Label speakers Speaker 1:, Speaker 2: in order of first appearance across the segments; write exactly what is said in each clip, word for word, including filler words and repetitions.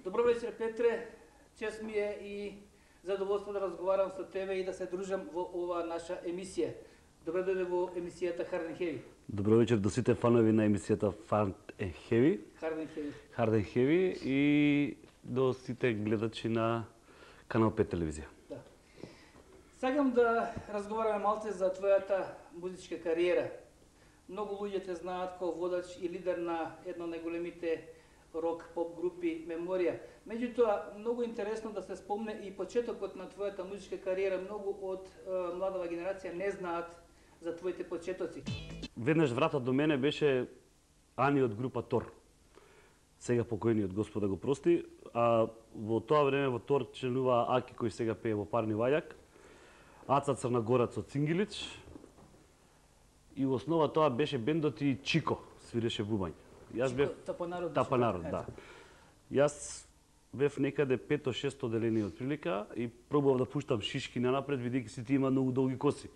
Speaker 1: Добро вечер, Петре. Чест ми е и задоволство да разговарам со тебе и да се дружам во ова наша емисија. Добре дојде во емисијата Hard and Heavy.
Speaker 2: Добро вечер до сите фанови на емисијата Hard and Heavy.
Speaker 1: Hard and Heavy.
Speaker 2: Hard and Heavy и до сите гледачи на Канал пет телевизија.
Speaker 1: Да. Сакам да разговараме малце за твојата музичка кариера. Многу луѓе те знаат како водач и лидер на една од најголемите рок-поп групи Меморија. Меѓутоа, многу интересно да се спомне и почетокот на твојата музичка кариера. Многу од е, младава генерација не знаат за твоите почетоци.
Speaker 2: Веднаш врата до мене беше Ани од група Тор. Сега покојниот Господ да го прости, а во тоа време во Тор членува Аки кој сега пее во Парни Вајак, Аца Црнагорац од Цингилич и во основа тоа беше бендот и Чико свиреше бубањ. Јас бев
Speaker 1: Тапанарод.
Speaker 2: Тапанарод, да. Јас бев некаде пето-шесто одделение од прилика и пробував да пуштам шишки нанапред, бидејќи сите има многу долги коси.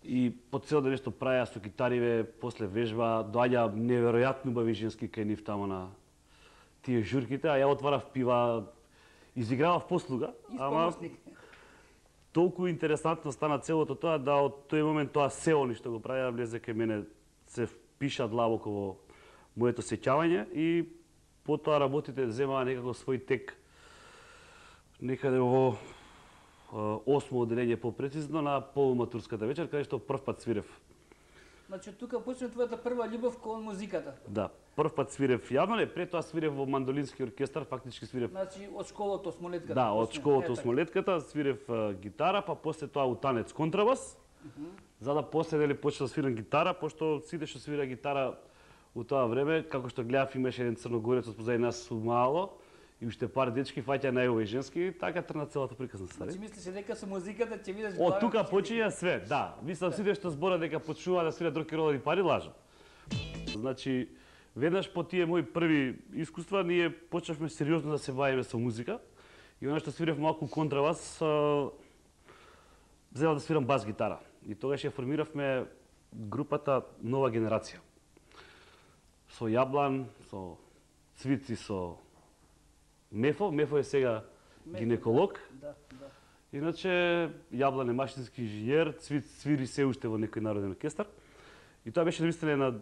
Speaker 2: И по цел ден нешто правеа со китариве, после вежба, доаѓа неверојатно убави женски кај нив тамо на тие журките, а ја отварав пива, изигравав послуга, ама толку интересантно стана целото тоа да од тој момент тоа се они што го правеа влезе кај мене, се впиша длабоко во моето сеќавање и потоа работите земаа некако свој тек некаде во осмо одделение попрецизно на полуматурската вечер, каде што прв пат свирев.
Speaker 1: Значи тука почна твојата прва љубов кон музиката.
Speaker 2: Да, прв пат свирев јавно, не, пред тоа свирев во мандолински оркестар, фактички свирев.
Speaker 1: Значи од школата Осмолетката.
Speaker 2: Да, од школата Осмолетката свирев uh, гитара, па после тоа утанец контрабас. Uh -huh. За да после дали почнав да свирам гитара, пошто сите што свира гитара у тоа време, како што гледав, имаше еден црногорец од позади нас мало и уште пар дечки фаќа најови женски, така трна целата приказна стари.
Speaker 1: Значи мислиш дека со музиката ќе видиш
Speaker 2: главен? Од тука почиња све, да. Мислам сите што збора дека почнува да свират рок и рол и пари лажат. Значи веднаш по тие мои први искуства ние почнавме сериозно да се бавиме со музика и она што свирев малку контрабас, взела да свирам бас гитара. И тогаш ја формиравме групата Нова генерација. Со Јаблан, со Цвици, со Мефо. Мефо е сега Мефо, гинеколог.
Speaker 1: Да, да.
Speaker 2: Иначе Јаблан е машински инженер, Цвиц свири се уште во некој народен оркестар. И тоа беше наистина една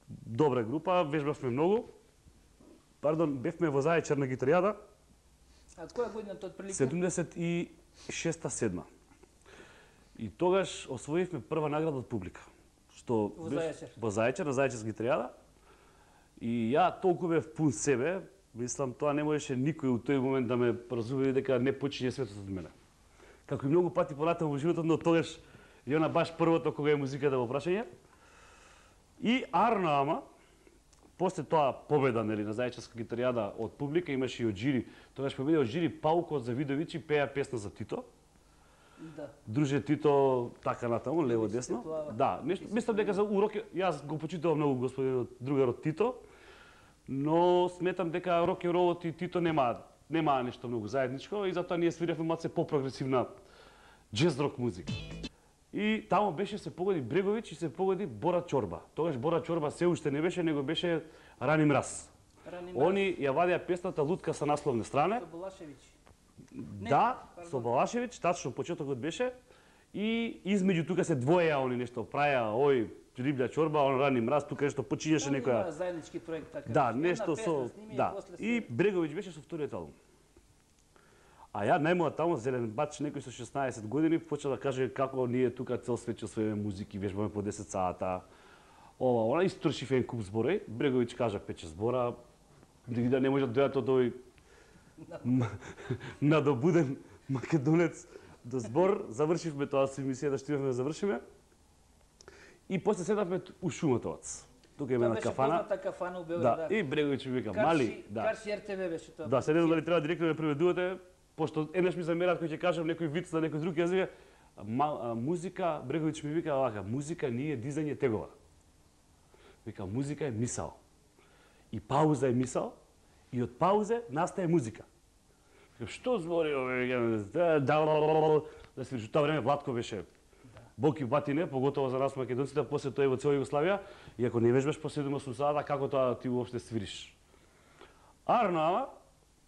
Speaker 2: добра група, вежбавме многу. Пардон, бевме во Зајачар на гитаријада.
Speaker 1: А која година тоа прилика?
Speaker 2: седумдесет и шеста седма. И тогаш освоивме прва награда од публика. Што
Speaker 1: во Зајачар.
Speaker 2: Во Зајачар, на Зајачарска гитаријада. И ја толку бев пун себе, мислам, тоа не можеше никој у тој момент да ме разубеди дека не почиње светот од мене. Како и многу пати понатаму во животот, но тогаш и она баш првото кога е музиката во прашање. И арно ама, после тоа победа, нели, на заедничка гитаријада од публика, имаше и од жири, тогаш победи од жири Пауко Завидовиќ и пеа песна за Тито.
Speaker 1: Да.
Speaker 2: Друже Тито, така натаму, лево десно. Да, нешто, мислам дека за урок, јас го почитувам многу господинот другарот Тито, но сметам дека рок н ролот и Тито нема нема нешто многу заедничко и затоа ние свиревме малце по-прогресивна джез рок музика. И таму беше се погоди Бреговиќ и се погоди Бора Чорба. Тогаш Бора Чорба се уште не беше, него беше Рани мраз.
Speaker 1: Рани мраз.
Speaker 2: Они ја вадеа песната Лутка са насловне стране.
Speaker 1: Со Балашевиќ.
Speaker 2: Да, со Балашевиќ, тачно почетокот беше. И измеѓу тука се двоеа они нешто праја, ој Риблја Чорба, он Рани мраз, тука нешто почињаше некоја.
Speaker 1: Да, заеднички проект така.
Speaker 2: Да, нешто со да. И Бреговиќ беше со вториот албум. А ја најмоа таму зелен бач, некој со шеснаесет години почна да каже како ние тука цел свет ќе освоиме музики, вежбаме по десет сата. Ова, она истрошив еден куп зборови. Бреговиќ кажа пет шест збора, да не може да дојдат од овој надобуден македонец до збор. Завршивме тоа со емисијата, што имавме да завршиме. И после седавме у Шумотовац. Тука има една кафана.
Speaker 1: Тоа беше кафана у Белград.
Speaker 2: Да, и Бреговиќ ми вика, мали, да.
Speaker 1: Карши ер те ве беше тоа.
Speaker 2: Да, се не знам дали треба директно да ме преведувате, пошто еднаш ми замерат кој ќе кажам некој виц на некој друг јазик. Музика, Бреговиќ ми вика овака, музика не е дизање тегова. Вика, музика е мисал. И пауза е мисал, и од паузе настае музика. Вика, што збори овој, да, да се вижу, тоа време Владко беше Боки батине, поготово за нас македонците, после тоа и во цела Југославија, и ако не вежбаш по седум осум сата, како тоа ти уопште свириш? Арно, ама,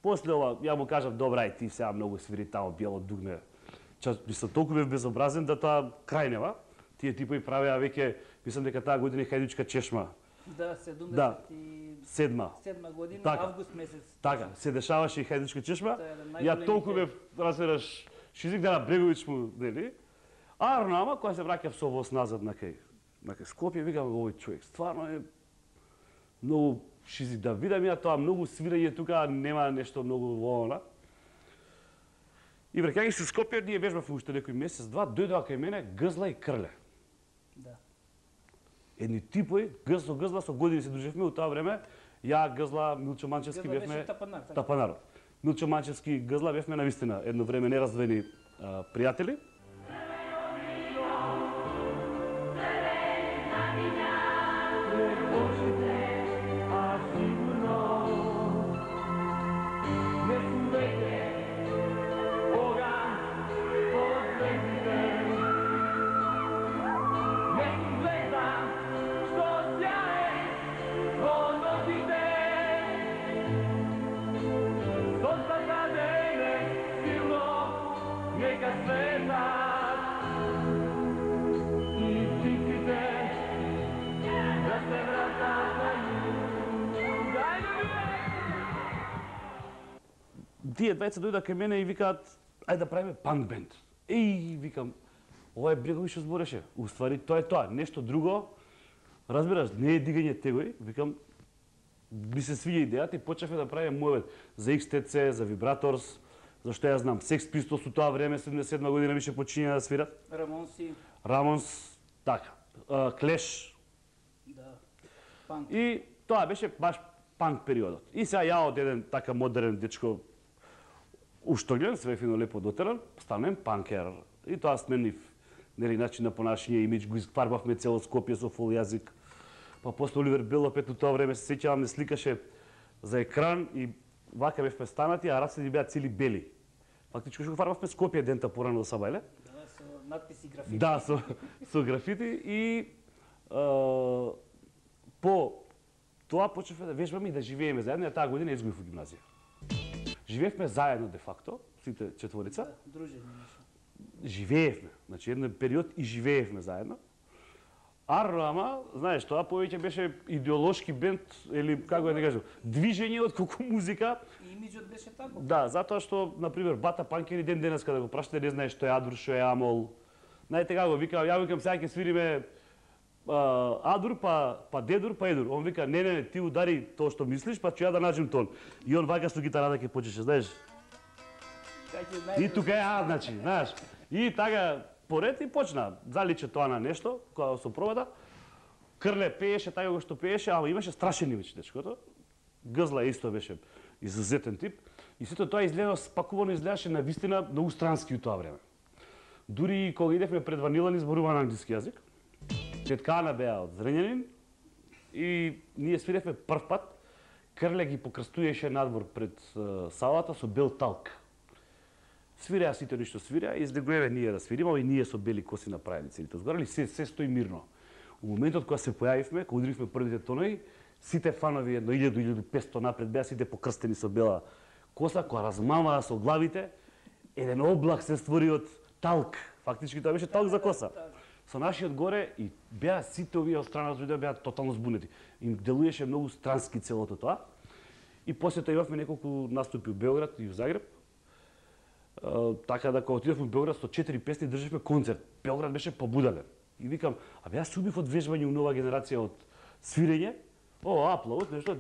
Speaker 2: после ова, ја му кажам, добра, и ти сега многу свири тамо, биело дугме. Час, мислам, толку бев безобразен да тоа крајнева. Тие типови правеа веќе, мислам дека таа година Хајдучка чешма.
Speaker 1: Да, седумдесет
Speaker 2: Да, седма.
Speaker 1: седма година,
Speaker 2: Така.
Speaker 1: август месец.
Speaker 2: Така, се дешаваше и Хајдучка чешма.
Speaker 1: Тоа е еден
Speaker 2: Ја
Speaker 1: најголемите-
Speaker 2: толку бев, разбираш, шизик да на Бреговиќ му, нели? Арно, ама, кога се враќав со воз назад на кај, на кај Скопје, викам, овој човек стварно е многу шизик да видам ја тоа, многу свирање тука, нема нешто многу во она. И враќајќи се Скопје, ние вежбавме уште некој месец, два, дојдоа кај мене Гзла и Крле.
Speaker 1: Да.
Speaker 2: Едни типови, Гз со Гзла, со години се дружевме у тоа време, ја, Гзла, Милчо Манчевски
Speaker 1: Гзла
Speaker 2: бевме...
Speaker 1: беше Тапанар, така?
Speaker 2: Тапанар. Милчо Манчевски и Гзла бевме навистина едно време нераздвоени а, пријатели. Тие двајца дојдоа кај мене и викаат, ајде да правиме панк бенд. Еј, викам, ова е Бреговиќ што збореше. Уствари, тоа е тоа, нешто друго. Разбираш, не е дигање тегови, викам, ми се свиѓа идејата и почнавме да правиме муавет за Икс Те Це, за Вибраторс, зашто ја знам, Секс Пистолс у тоа време, седумдесет и седма година више почиња да свират.
Speaker 1: Рамонси.
Speaker 2: Рамонс, така, Клеш.
Speaker 1: Да. Панк.
Speaker 2: И тоа беше баш панк периодот. И сега ја од еден така модерен дечко уштоглен, све фино лепо дотеран, станем панкер. И тоа сменив, нели, начин на понашање, имидж, го изфарбавме цело Скопје со фул јазик. Па после Оливер Белопет у тоа време се сеќавам, не сликаше за екран и вака бевме станати, а раците беа цели бели. Фактички што го фарбавме Скопје дента порано до Сабајле.
Speaker 1: Да, со надписи графити.
Speaker 2: Да, со, со графити и а, по тоа почнавме да вежбаме и да живееме заедно, а таа година изгубив во гимназија. Живеевме заедно де факто, сите четворица.
Speaker 1: Да, дружени беше.
Speaker 2: Живеевме, значи еден период и живеевме заедно. Арно, ама, знаеш, тоа повеќе беше идеолошки бенд, или како да кажам, движење од колку музика.
Speaker 1: И имиджот беше тако.
Speaker 2: Да, затоа што, например, Бата Панкери ден денеска да го прашате, не знаеш што е Адур, што е Амол. Знаете како, викам, ја викам, сега ќе свириме а, Адур, па, па Дедур, па Едур. Он вика, не, не, не, ти удари тоа што мислиш, па ќе ја да наđем тон. И он вака со гитарата ќе почеше, знаеш. И тука е А, значи, знаеш. И така, поред и почна. Заличе тоа на нешто, кога со провода. Крле пееше така како што пееше, ама имаше страшен имидж дечкото. Гзла исто беше изузетен тип и сето тоа изгледа спакувано, изгледаше на вистина многу странски у тоа време. Дури кога идевме пред Ванила ни зборува на англиски јазик. Теткана беа од Зрењанин и ние свиревме прв пат. Крле ги покрстуеше надвор пред uh, салата со бел талк. Свиреа сите ништо свиреа и излегуваме ние да свириме, и ние со бели коси направени целите згорали, се, се стои мирно. У моментот кога се појавивме, кога ударивме првите тонови, сите фанови едно илјаду до илјаду и песто напред беа сите покрстени со бела коса, која размамаа со главите, еден облак се створи од талк. Фактички тоа беше талк за коса. Со нашиот горе и беа сите овие од страна од беа тотално збунети. Им делуеше многу странски целото тоа. И после тоа имавме неколку наступи у Белград и у Загреб. Uh, така да кога отидовме во Белград со четири песни држевме концерт. Белград беше побудален. И викам, а бе јас убив од вежбање у нова генерација од свирење. О, аплаус, нешто,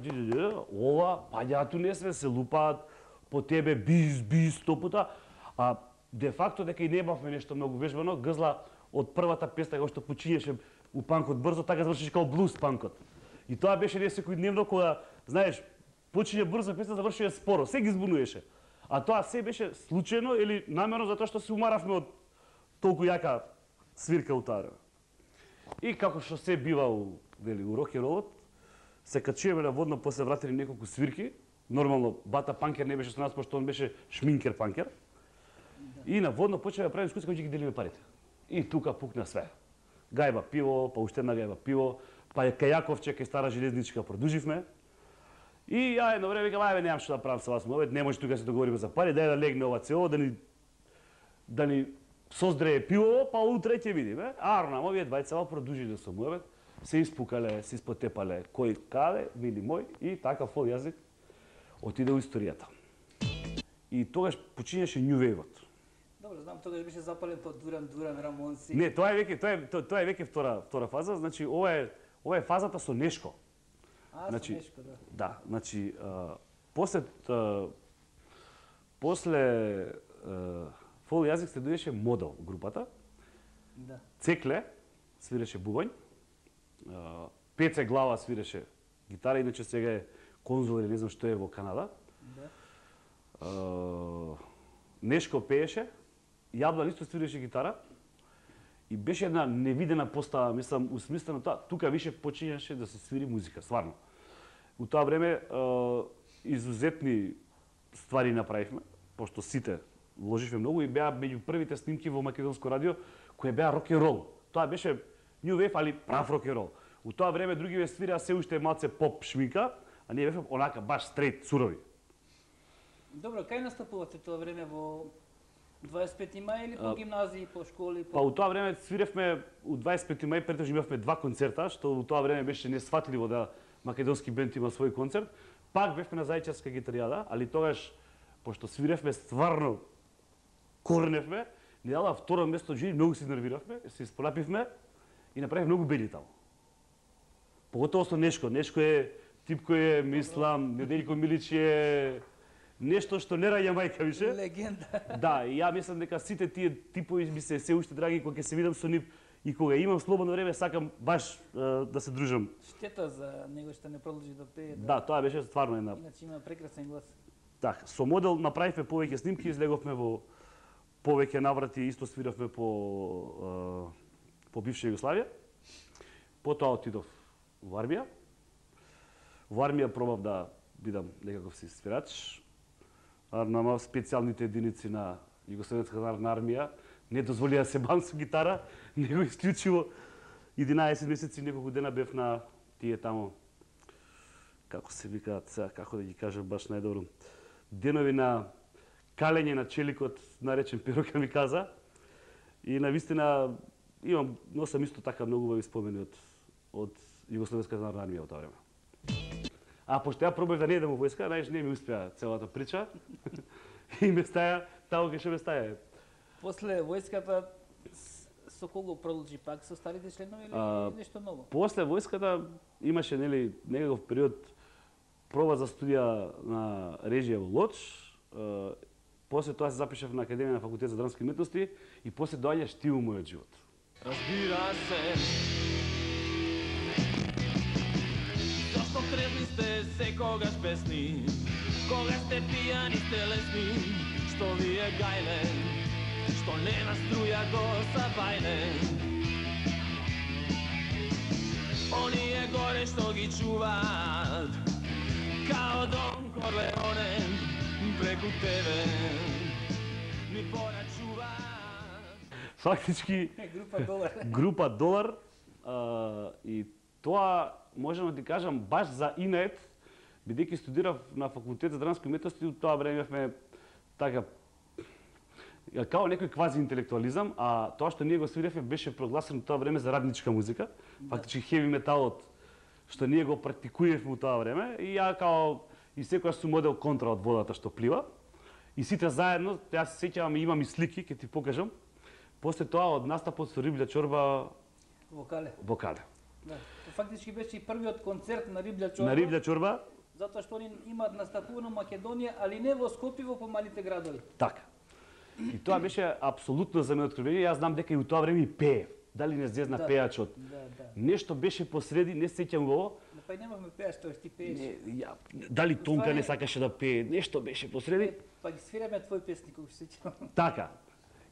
Speaker 2: ова, паѓаату не све се лупаат по тебе биз, биз, сто пута. А де факто дека и немавме нешто многу вежбано, Гзла од првата песна кога што почињеше у панкот брзо, така завршеше као блуз панкот. И тоа беше не секојдневно кога, знаеш, почиње брзо песна, завршува споро, се ги збунуваше. А тоа се беше случајно или намерно затоа што се умаравме од толку јака свирка у тоа време. И како што се бива у, вели, у рок-н-ролот, се качуваме на водно, после вратени неколку свирки. Нормално, Бата Панкер не беше со нас, пошто он беше шминкер Панкер. И на водно почнеме да правиме дискусија кој ќе ги делиме парите. И тука пукна све. Гајба пиво, па уште една гајба пиво, па кај Јаковче, кај Стара железничка продуживме. И ја едно време викам, ајде, немам што да правам со вас муавет, не може тука се договориме за пари, дај да легне ова цело, да ни да ни создрее пиво, па утре ќе видиме. Арнам, овие двајца продужиле со муавет, се испукале, се испотепале, кој каде, мили мој, и така фол јазик отиде у историјата. И тогаш почињаше New Wave-от.
Speaker 1: Добро, знам, тогаш беше запален по Дуран Дуран, Рамонси.
Speaker 2: Не, тоа е веќе, тоа е тоа, тоа е веќе втора втора фаза, значи ова е ова е фазата со Нешко.
Speaker 1: А,
Speaker 2: значи,
Speaker 1: со Нешко, да.
Speaker 2: Да, значи а, после а, после а, фол јазик се дојдеше Модел групата.
Speaker 1: Да.
Speaker 2: Цекле свиреше бубањ. Пеце Глава свиреше гитара, иначе сега е конзул или не знам што е во Канада.
Speaker 1: Да.
Speaker 2: Uh, Нешко пееше, Јаблан исто свиреше гитара и беше една невидена постава, мислам, усмислено тоа, тука више почињаше да се свири музика, стварно. У тоа време uh, изузетни ствари направивме, пошто сите вложивме многу и беа меѓу првите снимки во македонско радио кои беа рок-н-рол. Тоа беше New Wave, али прав рок-н-рол. У тоа време другиве свираа се уште малце поп шминка, а ние бевме онака баш стрейт, сурови.
Speaker 1: Добро, кај настапувате тоа време во дваесет и пети мај или по гимназии, по школи? По...
Speaker 2: Па у тоа време свиревме у дваесет и пети мај, претежно имавме два концерта, што у тоа време беше несфатливо да македонски бенд има свој концерт. Пак бевме на Зајчарска гитаријада, али тогаш, пошто свиревме стварно корневме, ни дала второ место жури, многу се нервиравме, се исполапивме и направивме многу бели таму. Поготово со Нешко. Нешко е тип кој е, мислам, Неделјко Милич е нешто што не раѓа мајка више.
Speaker 1: Легенда.
Speaker 2: Да, и ја мислам дека сите тие типови ми се се уште драги кога ќе се видам со нив и кога имам слободно време сакам баш uh, да се дружам.
Speaker 1: Штета за него што не продолжи да пее.
Speaker 2: Да, да тоа беше стварно една.
Speaker 1: Иначе има прекрасен глас.
Speaker 2: Така, со Модел направивме повеќе снимки, излеговме во повеќе наврати, исто свиравме по uh, по бивша Југославија. Потоа отидов во армија. Во армија пробав да бидам некаков си свирач. Нама специјалните единици на Југословенската народна армија не дозволија да се бавам со гитара, него исклучиво единаесет месеци, неколку дена бев на тие тамо, како се викаат сега, како да ги кажам баш најдобро, денови на калење на челикот, наречен Перука ми каза. И навистина имам, носам исто така многу убави спомени од од Југословенската народна армија во тоа време. А пошто ја пробав да не идам во војска, знаеш, не ми успеа целата прича. И ме стаја, тамо кај што ме стаја.
Speaker 1: После војската со кого продолжи пак со старите членови или
Speaker 2: а,
Speaker 1: нешто ново?
Speaker 2: После војската имаше нели некаков период проба за студија на режија во Лоч. А, после тоа се запишав на Академија на факултет за драмски уметности и после доаѓаш ти у мојот живот.
Speaker 3: Разбира се, секогаш песни, кога сте пијани сте лесни, што ви е гајле, што нема струја го сабајле. Оние горе што ги чуваат, као Дон Корлеоне, преку тебе ми порачуваат.
Speaker 2: Фактички
Speaker 1: Група Долар.
Speaker 2: група Долар а, и тоа можам да ти кажам баш за инет, бидејќи студирав на факултет за драмски уметности, у тоа време имавме така као некој квази интелектуализам, а тоа што ние го свиревме беше прогласено тоа време за радничка музика, фактички хеви металот што ние го практикувавме у тоа време и ја као и секојаш сум модел контра од водата што плива. И сите заедно, јас се сеќавам и имам и слики, ќе ти покажам. После тоа од настапот со Риблја чорба
Speaker 1: Вокале.
Speaker 2: вокале.
Speaker 1: Да. Фактички беше и првиот концерт на Риблја чорба.
Speaker 2: На Риблја чорба,
Speaker 1: Затоа што они имаат настапувано Македонија, али не во Скопје, во помалите градови.
Speaker 2: така. И тоа беше апсолутно за мене откровение. Јас знам дека и у тоа време и пее. Дали не зезна
Speaker 1: Да.
Speaker 2: пејачот.
Speaker 1: Да, да.
Speaker 2: Нешто беше посреди, не се сеќам го.
Speaker 1: Но па и немавме пееш, тоа ти пееш.
Speaker 2: Не, ја, дали Тонка не сакаше да пее, нешто беше посреди.
Speaker 1: Па ги свираме твој песни, кога се сеќавам.
Speaker 2: Така.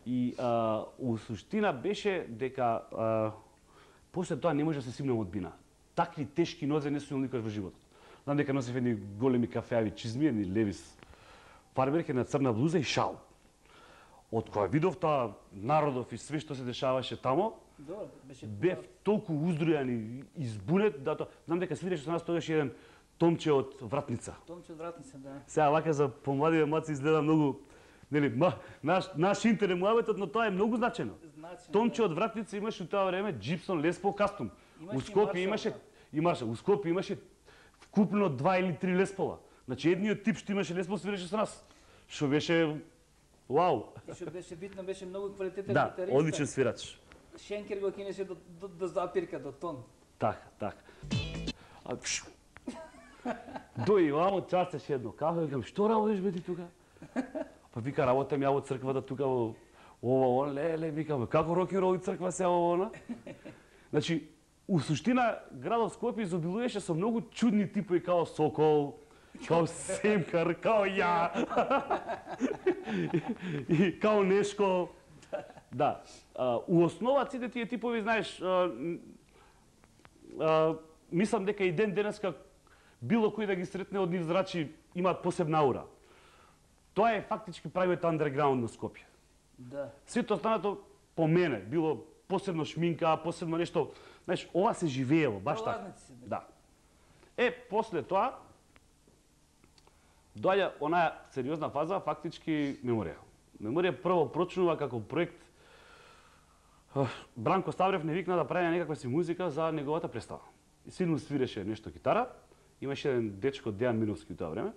Speaker 2: И а, у суштина беше дека а, после тоа не може да се симнам од бина. Такви тешки нозе не сум никогаш во животот. Знам дека носев едни големи кафеави чизми, едни Левис фармерки на црна блуза и шал. Од кога видов тоа народов и све што се дешаваше тамо,
Speaker 1: Добро, беше
Speaker 2: бев толку уздрујан и избунет да тоа. Знам дека свиреше со нас тогаш еден Томче од Вратница.
Speaker 1: Томче од Вратница, да.
Speaker 2: Сега вака за помлади маци изгледа многу, нели, ма, наш наш интерес муабетот, но тоа е многу значено.
Speaker 1: Значи,
Speaker 2: Томче од Вратница имаше у тоа време Джипсон Les Paul Custom.
Speaker 1: Имаше
Speaker 2: У
Speaker 1: и
Speaker 2: Скопје
Speaker 1: Маршал,
Speaker 2: имаше
Speaker 1: да.
Speaker 2: и Маршал, у Скопје имаше вкупно два или три Les Paul-а. Значи едниот тип што имаше Les Paul свиреше со нас. Што беше вау.
Speaker 1: И што беше битно, беше многу квалитетен
Speaker 2: Да,
Speaker 1: гитариста.
Speaker 2: одличен свирач.
Speaker 1: Шенкер го кинеше до, до, до запирка, до тон.
Speaker 2: Така, така. А, пш. Дој вамо часеш едно. Како викам, што работиш бе ти тука? Па вика, работам ја во црквата тука во ова, ова, леле, викам, како рок н рол и црква се ова, она? Значи, у суштина, градот Скопје изобилуваше со многу чудни типови, као Сокол, као Семкар, као ја, и као Нешко. Да, а, у основа сите тие типови, знаеш, а, а, мислам дека и ден денеска било кој да ги сретне од нив зрачи имаат посебна аура. Тоа е фактички правиот андерграунд на Скопје.
Speaker 1: Да.
Speaker 2: Сето останато по мене било посебно шминка, посебно нешто, знаеш, ова се живеело баш така.
Speaker 1: Пролазници се,
Speaker 2: Да. Е, после тоа доаѓа онаа сериозна фаза, фактички Меморија. Меморија прво прочнува како проект. Бранко Ставрев не викна да прави некаква си музика за неговата представа. И силно свиреше нешто китара, имаше еден дечко Дејан Миновски у тоа време.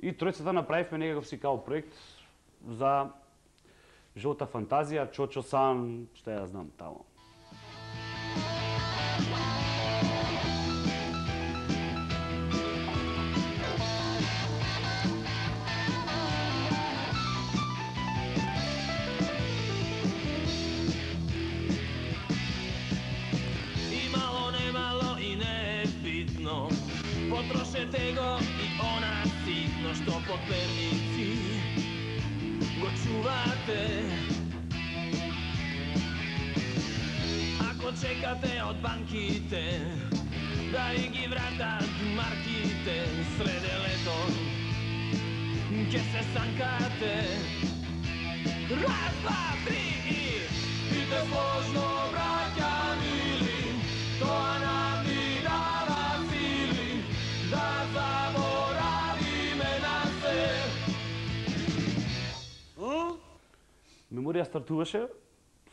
Speaker 2: И тројцата направивме некаков си као проект за Жолта фантазија, Чочо Сан, што ја знам тамо.
Speaker 3: Потрошете го и она ситно што под перници го чувате. Ако чекате од банките да и ги вратат марките, среде лето ќе се санкате. Раз, два, три и бите сложно, браќа мили, тоа нам ни дава сили да заборавиме на се.
Speaker 2: Меморија стартуваше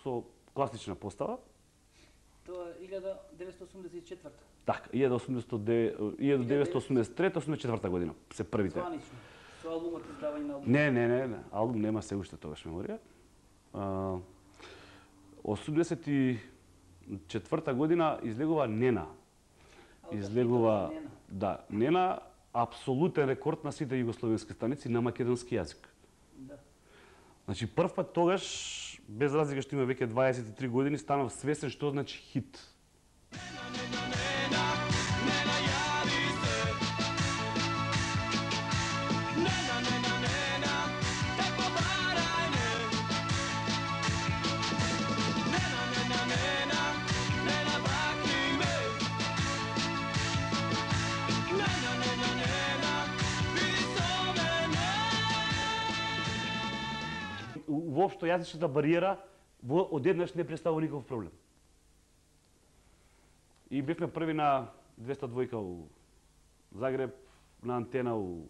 Speaker 2: со класична постава.
Speaker 1: Тоа е илјада деветстотини осумдесет и четврта.
Speaker 2: Така, илјада деветстотини осумдесет и трета осумдесет и четврта година се првите.
Speaker 1: Званично. Со албумот, издавање на албум.
Speaker 2: Не, не, не, не, албум нема се уште тогаш Меморија. А, осумдесет и четврта година излегува Нена. Излегува,
Speaker 1: Нена.
Speaker 2: да, Нена, апсолутен рекорд на сите југословенски станици на македонски јазик.
Speaker 1: Да.
Speaker 2: Значи, прв пат тогаш, без разлика што има веќе дваесет и три години, станав свесен што значи хит.
Speaker 3: Нена, Нена, Нена, јави се,
Speaker 2: воопшто јазичната бариера во одеднаш не представува никаков проблем. И бевме први на двеста двојка у Загреб, на Антена у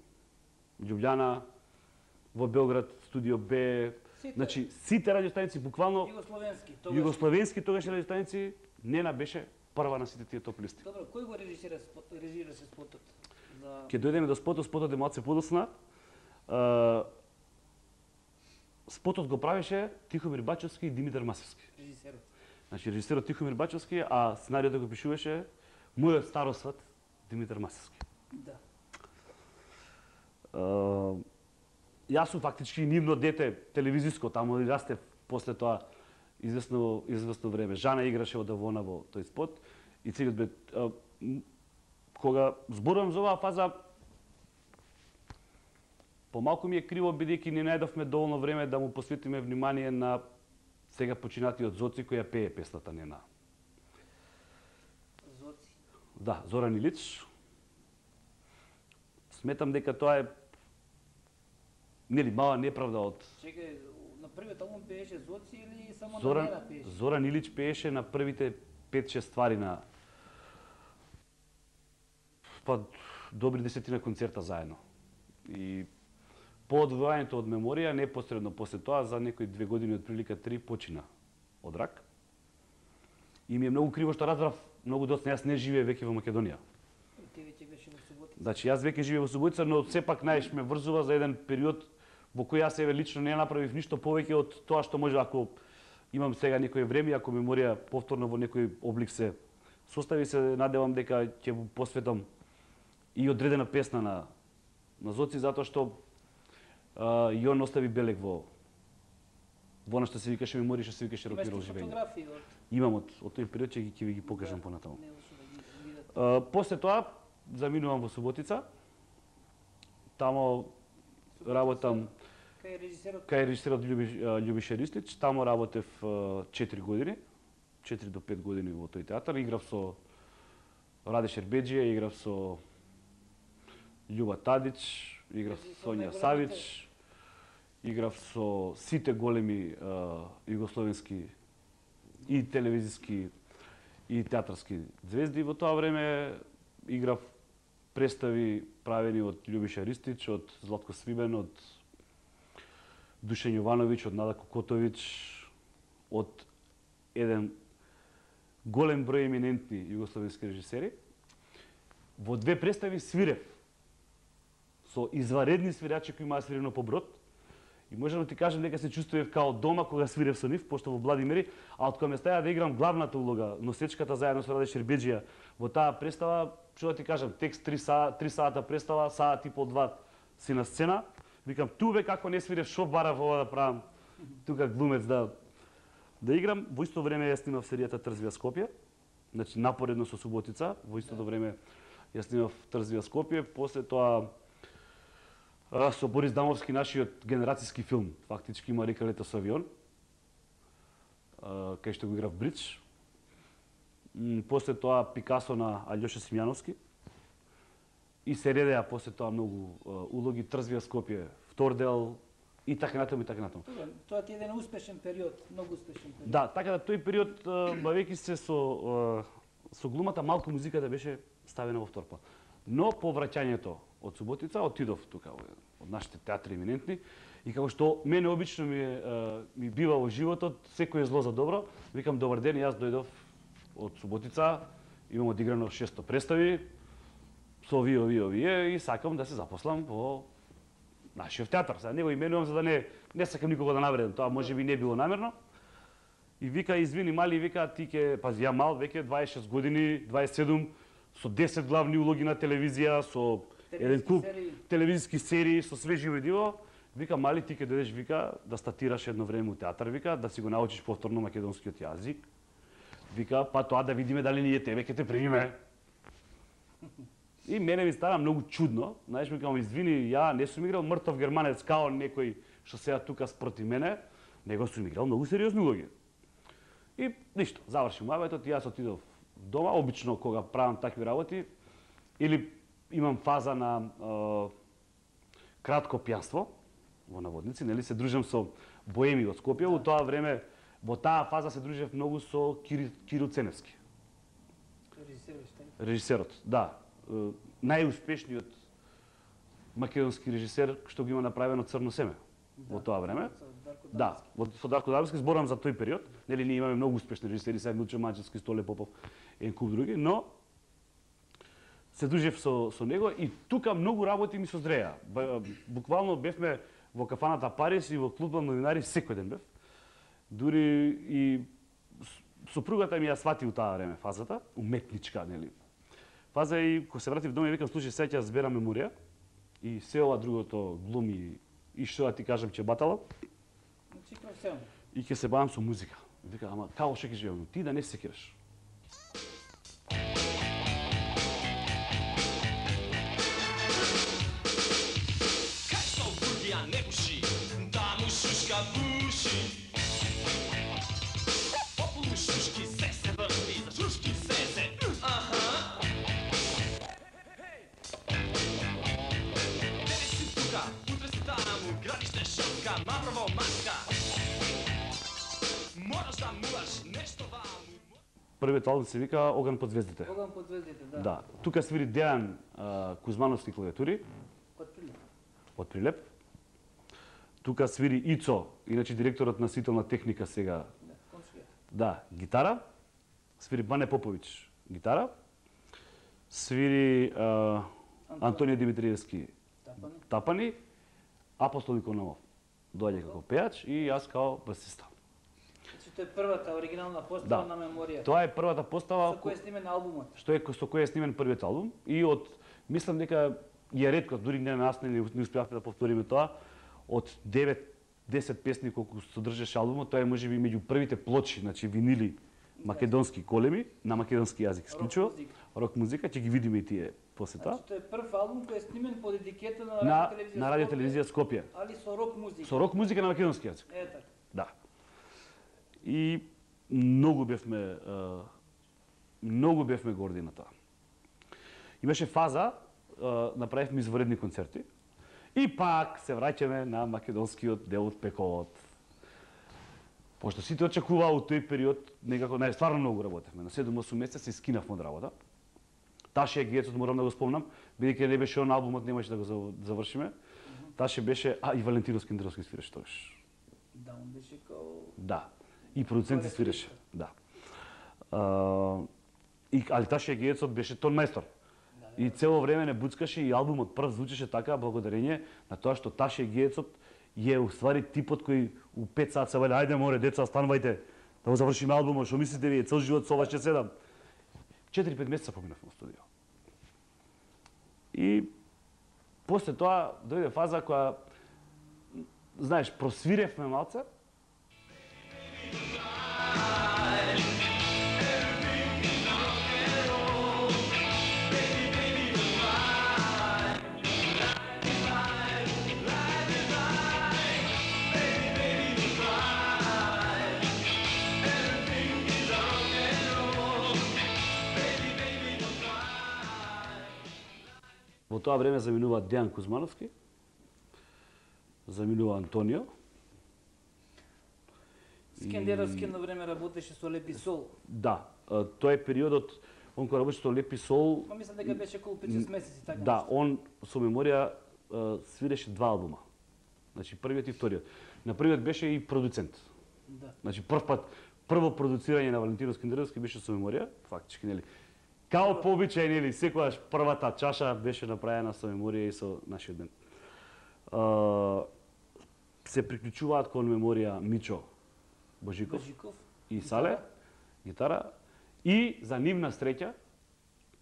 Speaker 2: Љубљана, во Белград, Студио Б,
Speaker 1: Сите.
Speaker 2: значи сите радиостаници буквално
Speaker 1: Југословенски, тогаш.
Speaker 2: југословенски тогаш радиостаници, Нена беше прва на сите тие топ листи.
Speaker 1: Добро, кој го режисира спот, режисираше спотот? За
Speaker 2: Ке дојдеме до спотот, спотот е малце подосна. Uh, спотот го правеше Тихомир Бачовски и Димитар Масевски.
Speaker 1: режисерот.
Speaker 2: Значи режисерот Тихомир Бачовски, а сценариото го пишуваше мојот старосват Димитар Масевски.
Speaker 1: Да.
Speaker 2: Uh, јас сум фактички нивно дете телевизиско, таму и растев после тоа известно известно време. Жана играше од Авона во тој спот и целиот бе uh, кога зборувам за оваа фаза, помалку ми е криво бидејќи не најдовме доволно време да му посветиме внимание на сега починатиот Зоци која пее песната Нена.
Speaker 1: Зоци.
Speaker 2: Да, Зоран Илич. Сметам дека тоа е нели мала неправда од
Speaker 1: Чекај, на првиот албум пееше Зоци или само
Speaker 2: Зоран,
Speaker 1: на Нена пееше?
Speaker 2: Зоран Илич пееше на првите пет-шест ствари на па добри десетина концерта заедно. И по одвојањето од меморија, непосредно после тоа, за некои две години, од прилика три, почина од рак. И ми е многу криво што разбрав многу доцна, јас не живеев веќе во Македонија.
Speaker 1: Ти веќе беше во Суботица.
Speaker 2: Значи, јас веќе живеев во Суботица, но сепак најш ме врзува за еден период во кој јас еве лично не направив ништо повеќе од тоа што може, ако имам сега некое време, ако меморија повторно во некој облик се состави, се надевам дека ќе го посветам и одредена песна на на Зоци, затоа што а, и он остави белег во во она што се викаше меморија, што се викаше рок-н-рол
Speaker 1: Имаш
Speaker 2: живење.
Speaker 1: фотографии од
Speaker 2: Имам од од тој период, ќе ги ќе ви ги покажам понатаму.
Speaker 1: не лошо да ги видат.
Speaker 2: А, после тоа заминувам во Суботица. Тамо работам
Speaker 1: Кај режисерот
Speaker 2: кај режисерот Љуби, Љубиша Ристич. Тамо работев четири години, четири до пет години во тој театар. Играв со Раде Шербеџија, играв со Љуба Тадич, играв со Сонја Савич, играв со сите големи а, југословенски и телевизиски и театарски звезди во тоа време. Играв представи правени од Љубиша Ристич, од Златко Свибен, од Душен Јовановиќ, од Нада Кокотовиќ, од еден голем број еминентни југословенски режисери. Во две представи свирев со изваредни свирачи кои имаа свирено по брод. И можам да ти кажам дека се чувствував као дома кога свирев со нив, пошто во Владимири, а од кога ме ставија да играм главната улога, носечката заедно со Раде Шербеџија, во таа представа, што да ти кажам, текст три сата, три сата представа, саат и пол два си на сцена. Викам, ту бе како не свирев, шо барав ова да правам, тука глумец да да играм. Во исто време ја снимав серијата Трзвија Скопје, значи напоредно со Суботица, во истото време ја снимав Трзвија Скопје, после тоа а, со Борис Дамовски, нашиот генерацијски филм, фактички има река Лето со авион, а, кај што го играв Бридж. М, после тоа Пикасо на Алјоша Симјановски. И се редеа после тоа многу а, улоги, Трзвија Скопје, втор дел и така натаму и така натаму.
Speaker 1: Тоа, тоа ти е еден успешен период, многу успешен период.
Speaker 2: Да, така да тој период, бавејќи се со а, со глумата, малку музиката беше ставена во втор план. Но по враќањето од Суботица отидов тука од нашите театри еминентни и како што мене обично ми е, а, ми бива во животот, секој е зло за добро, викам добар ден, јас дојдов од Суботица, имам одиграно шесто представи со овие, овие, овие и сакам да се запослам во нашиот театар. Сега не го именувам за да не не сакам никого да навредам, тоа можеби не било намерно. И вика, извини мали, вика, ти ке, пази, ја мал, веќе дваесет и шест години, дваесет и седум, со десет главни улоги на телевизија, со еден куп
Speaker 1: серии.
Speaker 2: телевизиски серии, со све живо и диво. Вика, мали, ти ке дојдеш, вика, да статираш едно време у театар, вика, да си го научиш повторно македонскиот јазик. Вика, па тоа да видиме дали ние тебе ќе те примиме. И мене ми стана многу чудно, знаеш, ми кажам, извини, ја не сум играл мртов германец као некој што сега тука спроти мене, него сум играл многу сериозни улоги. И ништо, заврши муабетот и јас отидов дома, обично кога правам такви работи, или имам фаза на е, кратко пијанство, во наводници, нели се дружам со боеми од Скопје. Во тоа време, во таа фаза се дружев многу со Кири, Кирил Ценевски. Режисерот, да. Најуспешниот македонски режисер што го има направено Црно семе во тоа време. Да, со Дарко Давски зборам за тој период. Нели ние имаме многу успешни режисери, сега Милчо Маџевски, Столе Попов, еден куп други, но се дружев со со него и тука многу работи ми созреа. Буквално бевме во кафаната Парис и во клубот новинари секој ден бев. Дури и сопругата ми ја свати у таа време фазата, уметничка, нели. Фаза и кога се вратив дома и викам, слушај, сега ќе зберам меморија и се ова другото глуми и што да ти кажам ќе батала. И ќе се бавам со музика. Вика, ама како што ќе живеам, ти да не се секираш.
Speaker 3: Кај со бургија не пуши, да му шушка пуши. Популу шушки се се врти, за шушки се се, аха. Денес си тука, утре си таму, градиште шопка, направо маска. Мораш да муваш нешто ваму.
Speaker 2: Првиот албум се вика Оган под звездите.
Speaker 1: Оган под звездите, да.
Speaker 2: Да, тука свири Дејан Кузмановски клавиатури.
Speaker 1: Од Прилеп.
Speaker 2: Од Прилеп. Тука свири Ицо, иначе директорот на свителна техника сега.
Speaker 1: Да, комшија.
Speaker 2: Да, гитара. Свири Бане Поповиќ, гитара. Свири а, Антонио Димитриевски,
Speaker 1: Тапани.
Speaker 2: тапани. Апостол Икономов доаѓа како пејач и јас како басиста.
Speaker 1: Значи тоа е првата оригинална постава
Speaker 2: Да.
Speaker 1: на меморија.
Speaker 2: Тоа е првата постава
Speaker 1: Со кој е снимен албумот.
Speaker 2: што е со кој е снимен првиот албум и од мислам дека ја ретко, дури не нас не, не успеавме да повториме тоа, од девет-десет песни колку содржеше албумот, тоа е можеби меѓу првите плочи, значи винили македонски големи на македонски јазик исклучува, рок музика, ќе ги видиме и тие после тоа.
Speaker 1: Значи тоа е прв албум кој е снимен под етикета на
Speaker 2: На
Speaker 1: радио телевизија
Speaker 2: на радио телевизија Скопје.
Speaker 1: али со рок музика.
Speaker 2: Со рок музика на македонски јазик.
Speaker 1: Е така.
Speaker 2: Да. И многу бевме а, многу бевме горди на тоа. Имаше фаза, а, направивме изваредни концерти и пак се враќаме на македонскиот дел од пековот. Пошто сите очекуваа у тој период некако, не, стварно многу работевме. На седум-осум месеци се скинавме од работа. Таше Гецот морам да го спомнам, бидејќи не беше он албумот, немаше да го завршиме. Таше беше, а и Валентино Скиндревски свиреше тогаш.
Speaker 1: Да, он беше као
Speaker 2: Да. И продуцент свиреше. Да. А, и али Таше Гецот беше тон мајстор.
Speaker 1: Да,
Speaker 2: И цело време не буцкаше и албумот прв звучеше така благодарение на тоа што Таше Гецот е уствари типот кој у пет сат се вели, ајде море деца, станувајте да го завршиме албумот, што мислите вие, цел живот со вас ќе седам. четири-пет месеца поминавме во студио. И после тоа дојде фаза која, знаеш, просвиревме малце. Во тоа време заминува Дејан Кузмановски, заминува Антонио.
Speaker 1: Скендеровски на време работеше со Лепи Сол.
Speaker 2: Да, а, тоа е периодот, он кога работеше со Лепи Сол,
Speaker 1: Ма мислам дека беше околу пет-шест месеци така.
Speaker 2: да,
Speaker 1: нешто.
Speaker 2: он со меморија а, свиреше два албума. Значи првиот и вториот. На првиот беше и продуцент.
Speaker 1: Да.
Speaker 2: Значи прв пат прво продуцирање на Валентино Скиндревски беше со меморија, фактички нели. Као по обичај, нели, секогаш првата чаша беше направена со меморија и со нашиот бенд. А, се приклучуваат кон меморија Мичо Божиков,
Speaker 1: Божиков
Speaker 2: и Сале, гитара, и за нивна среќа,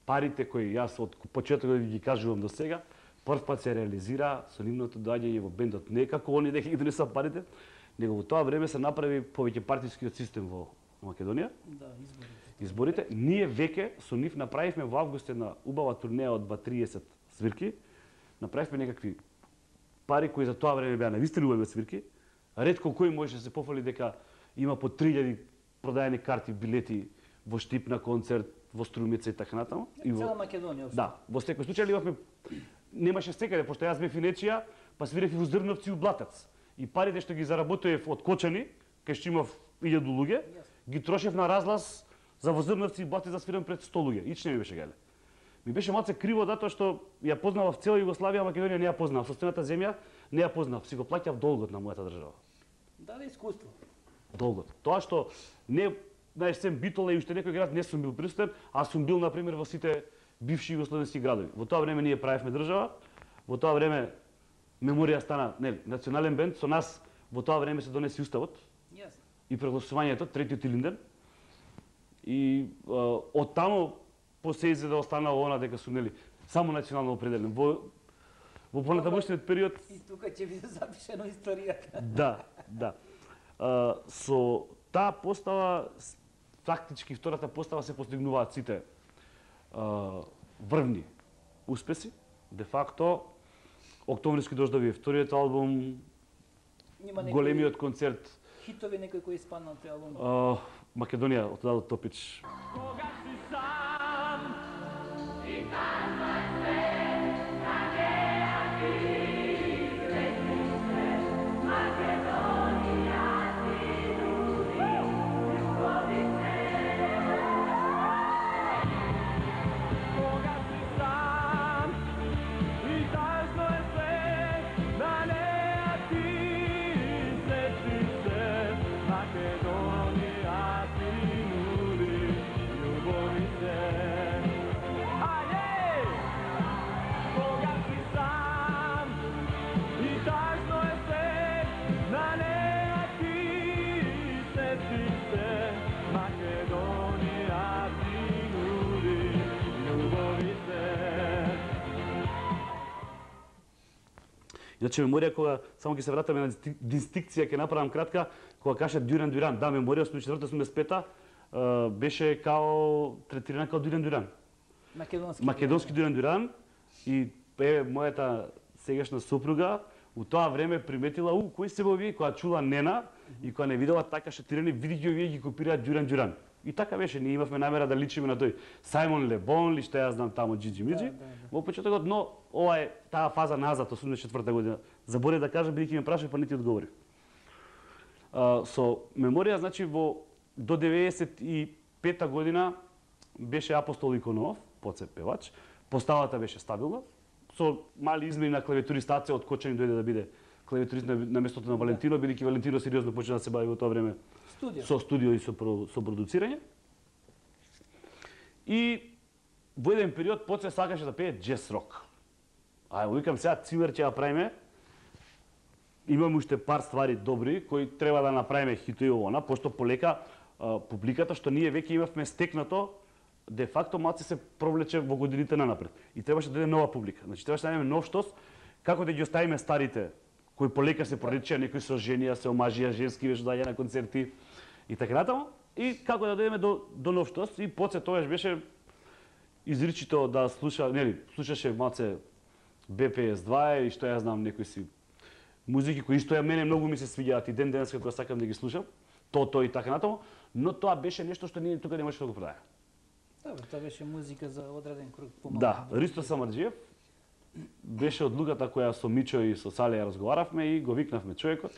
Speaker 2: парите кои јас од почетокот ги кажувам до сега, прв пат се реализира со нивното доаѓање во бендот, не како они дека ги донесува парите, него во тоа време се направи повеќе партискиот систем во Македонија.
Speaker 1: Да, изборите.
Speaker 2: Изборите, ние веќе со нив направивме во август една убава турнеја од два триесет свирки. Направивме некакви пари кои за тоа време беа навистина убави свирки. Ретко кој може да се пофали дека има по три илјади продаени карти, билети во Штип на концерт, во Струмица и така натаму. И во...
Speaker 1: Цела Македонија. општо.
Speaker 2: Да, во секој случај имавме немаше секаде, пошто јас бев и нечија, па свирев и во Зрновци и у Блатец. и парите што ги заработив од Кочани, кај што имав илјаду луѓе, ги трошев на разлаз за во Зрновци и Бати за свирам пред сто луѓе. Ич не ми беше гајле. Ми беше малце криво затоа што ја познавав цела Југославија, Македонија не ја познав, состојната земја не ја познав, си го плаќав долгот на мојата држава.
Speaker 1: Дали искуство?
Speaker 2: Долгот. Тоа што не, знаеш, сем Битола и уште некој град не сум бил присутен, а сум бил на пример во сите бивши југословенски градови. Во тоа време ние правевме држава, во тоа време Меморија стана, нели, национален бенд, со нас во тоа време се донеси уставот.
Speaker 1: Јасно.
Speaker 2: И прегласувањето, третиот илинден. И а, од таму после изеда останало она дека сум, нели, само национално определен. Во во понатамошниот период
Speaker 1: И тука ќе биде запишено историјата.
Speaker 2: Да, да. А, со таа постава, фактички втората постава се постигнуваат сите а, врвни успеси. Де факто, Октомвриски дождови е вториот албум,
Speaker 1: Има некои
Speaker 2: големиот концерт,
Speaker 1: хитови некои кои испаднат тој албум.
Speaker 2: а, Македонија од Дадо Топич.
Speaker 3: Кога си сам Кога си сам и тажно е свет, на неа ти сети се, Македонија ти нуди љубови се. Ајде! Кога си сам и тажно е свет, на неа ти сети се, Македонија ти нуди љубови се.
Speaker 2: Иначе Меморија, кога само ќе се вратаме на дисти- дистинкција, ќе направам кратка, кога каже Дюран Дюран, да, Меморија осумдесет и четврта осумдесет и пета а, беше као третирана као Дюран Дюран.
Speaker 1: Македонски.
Speaker 2: Македонски Дюран Дюран и е мојата сегашна сопруга у тоа време приметила, у, кои се овие, кога чула Нена и кога не видела така шатирани, види ги овие ги копираат Дюран Дюран. И така беше, ние имавме намера да личиме на тој Сајмон Лебон, ли што ја знам таму Джиджи Миджи.
Speaker 1: Да, да, да.
Speaker 2: Во почетокот, но ова е таа фаза назад, осумдесет и четврта година. Заборев да кажам, бидејќи ме прашај, па не ти одговорив. А, со Меморија, значи, во до деветдесет и пета година беше Апостол Иконов, поцеп певач. Поставата беше стабилна, со мали измени на клавиатуристација, од Кочани дојде да биде клавиатурист на, на местото на Валентино, бидејќи Валентино сериозно почна да се бави во тоа време
Speaker 1: Студио.
Speaker 2: со студио и со, про- со продуцирање. И во еден период поце сакаше да пее джез рок. А викам сега цимер ќе ја правиме. Имам уште пар ствари добри кои треба да направиме хито и она, пошто полека а, публиката што ние веќе имавме стекнато де факто малце се провлече во годините нанапред. И требаше да дојде нова публика. Значи требаше да најдеме нов штос, како да ги оставиме старите кои полека се проречија, некои со женија, се омажија, женски веш доаѓа на концерти и така натаму. И како да дојдеме до, до нов штос и поце тогаш беше изричито да слуша, нели, слушаше малце Б П С два и што ја знам некои си музики кои исто ја мене многу ми се свиѓаат и ден денеска кога сакам да ги слушам, то то и така натаму, но тоа беше нешто што ние тука не можеше да го продаде.
Speaker 1: Да, бе, тоа беше музика за одреден круг помалку.
Speaker 2: Да, Ристо Самарџиев беше од луѓата која со Мичо и со Сале ја разговаравме и го викнавме човекот.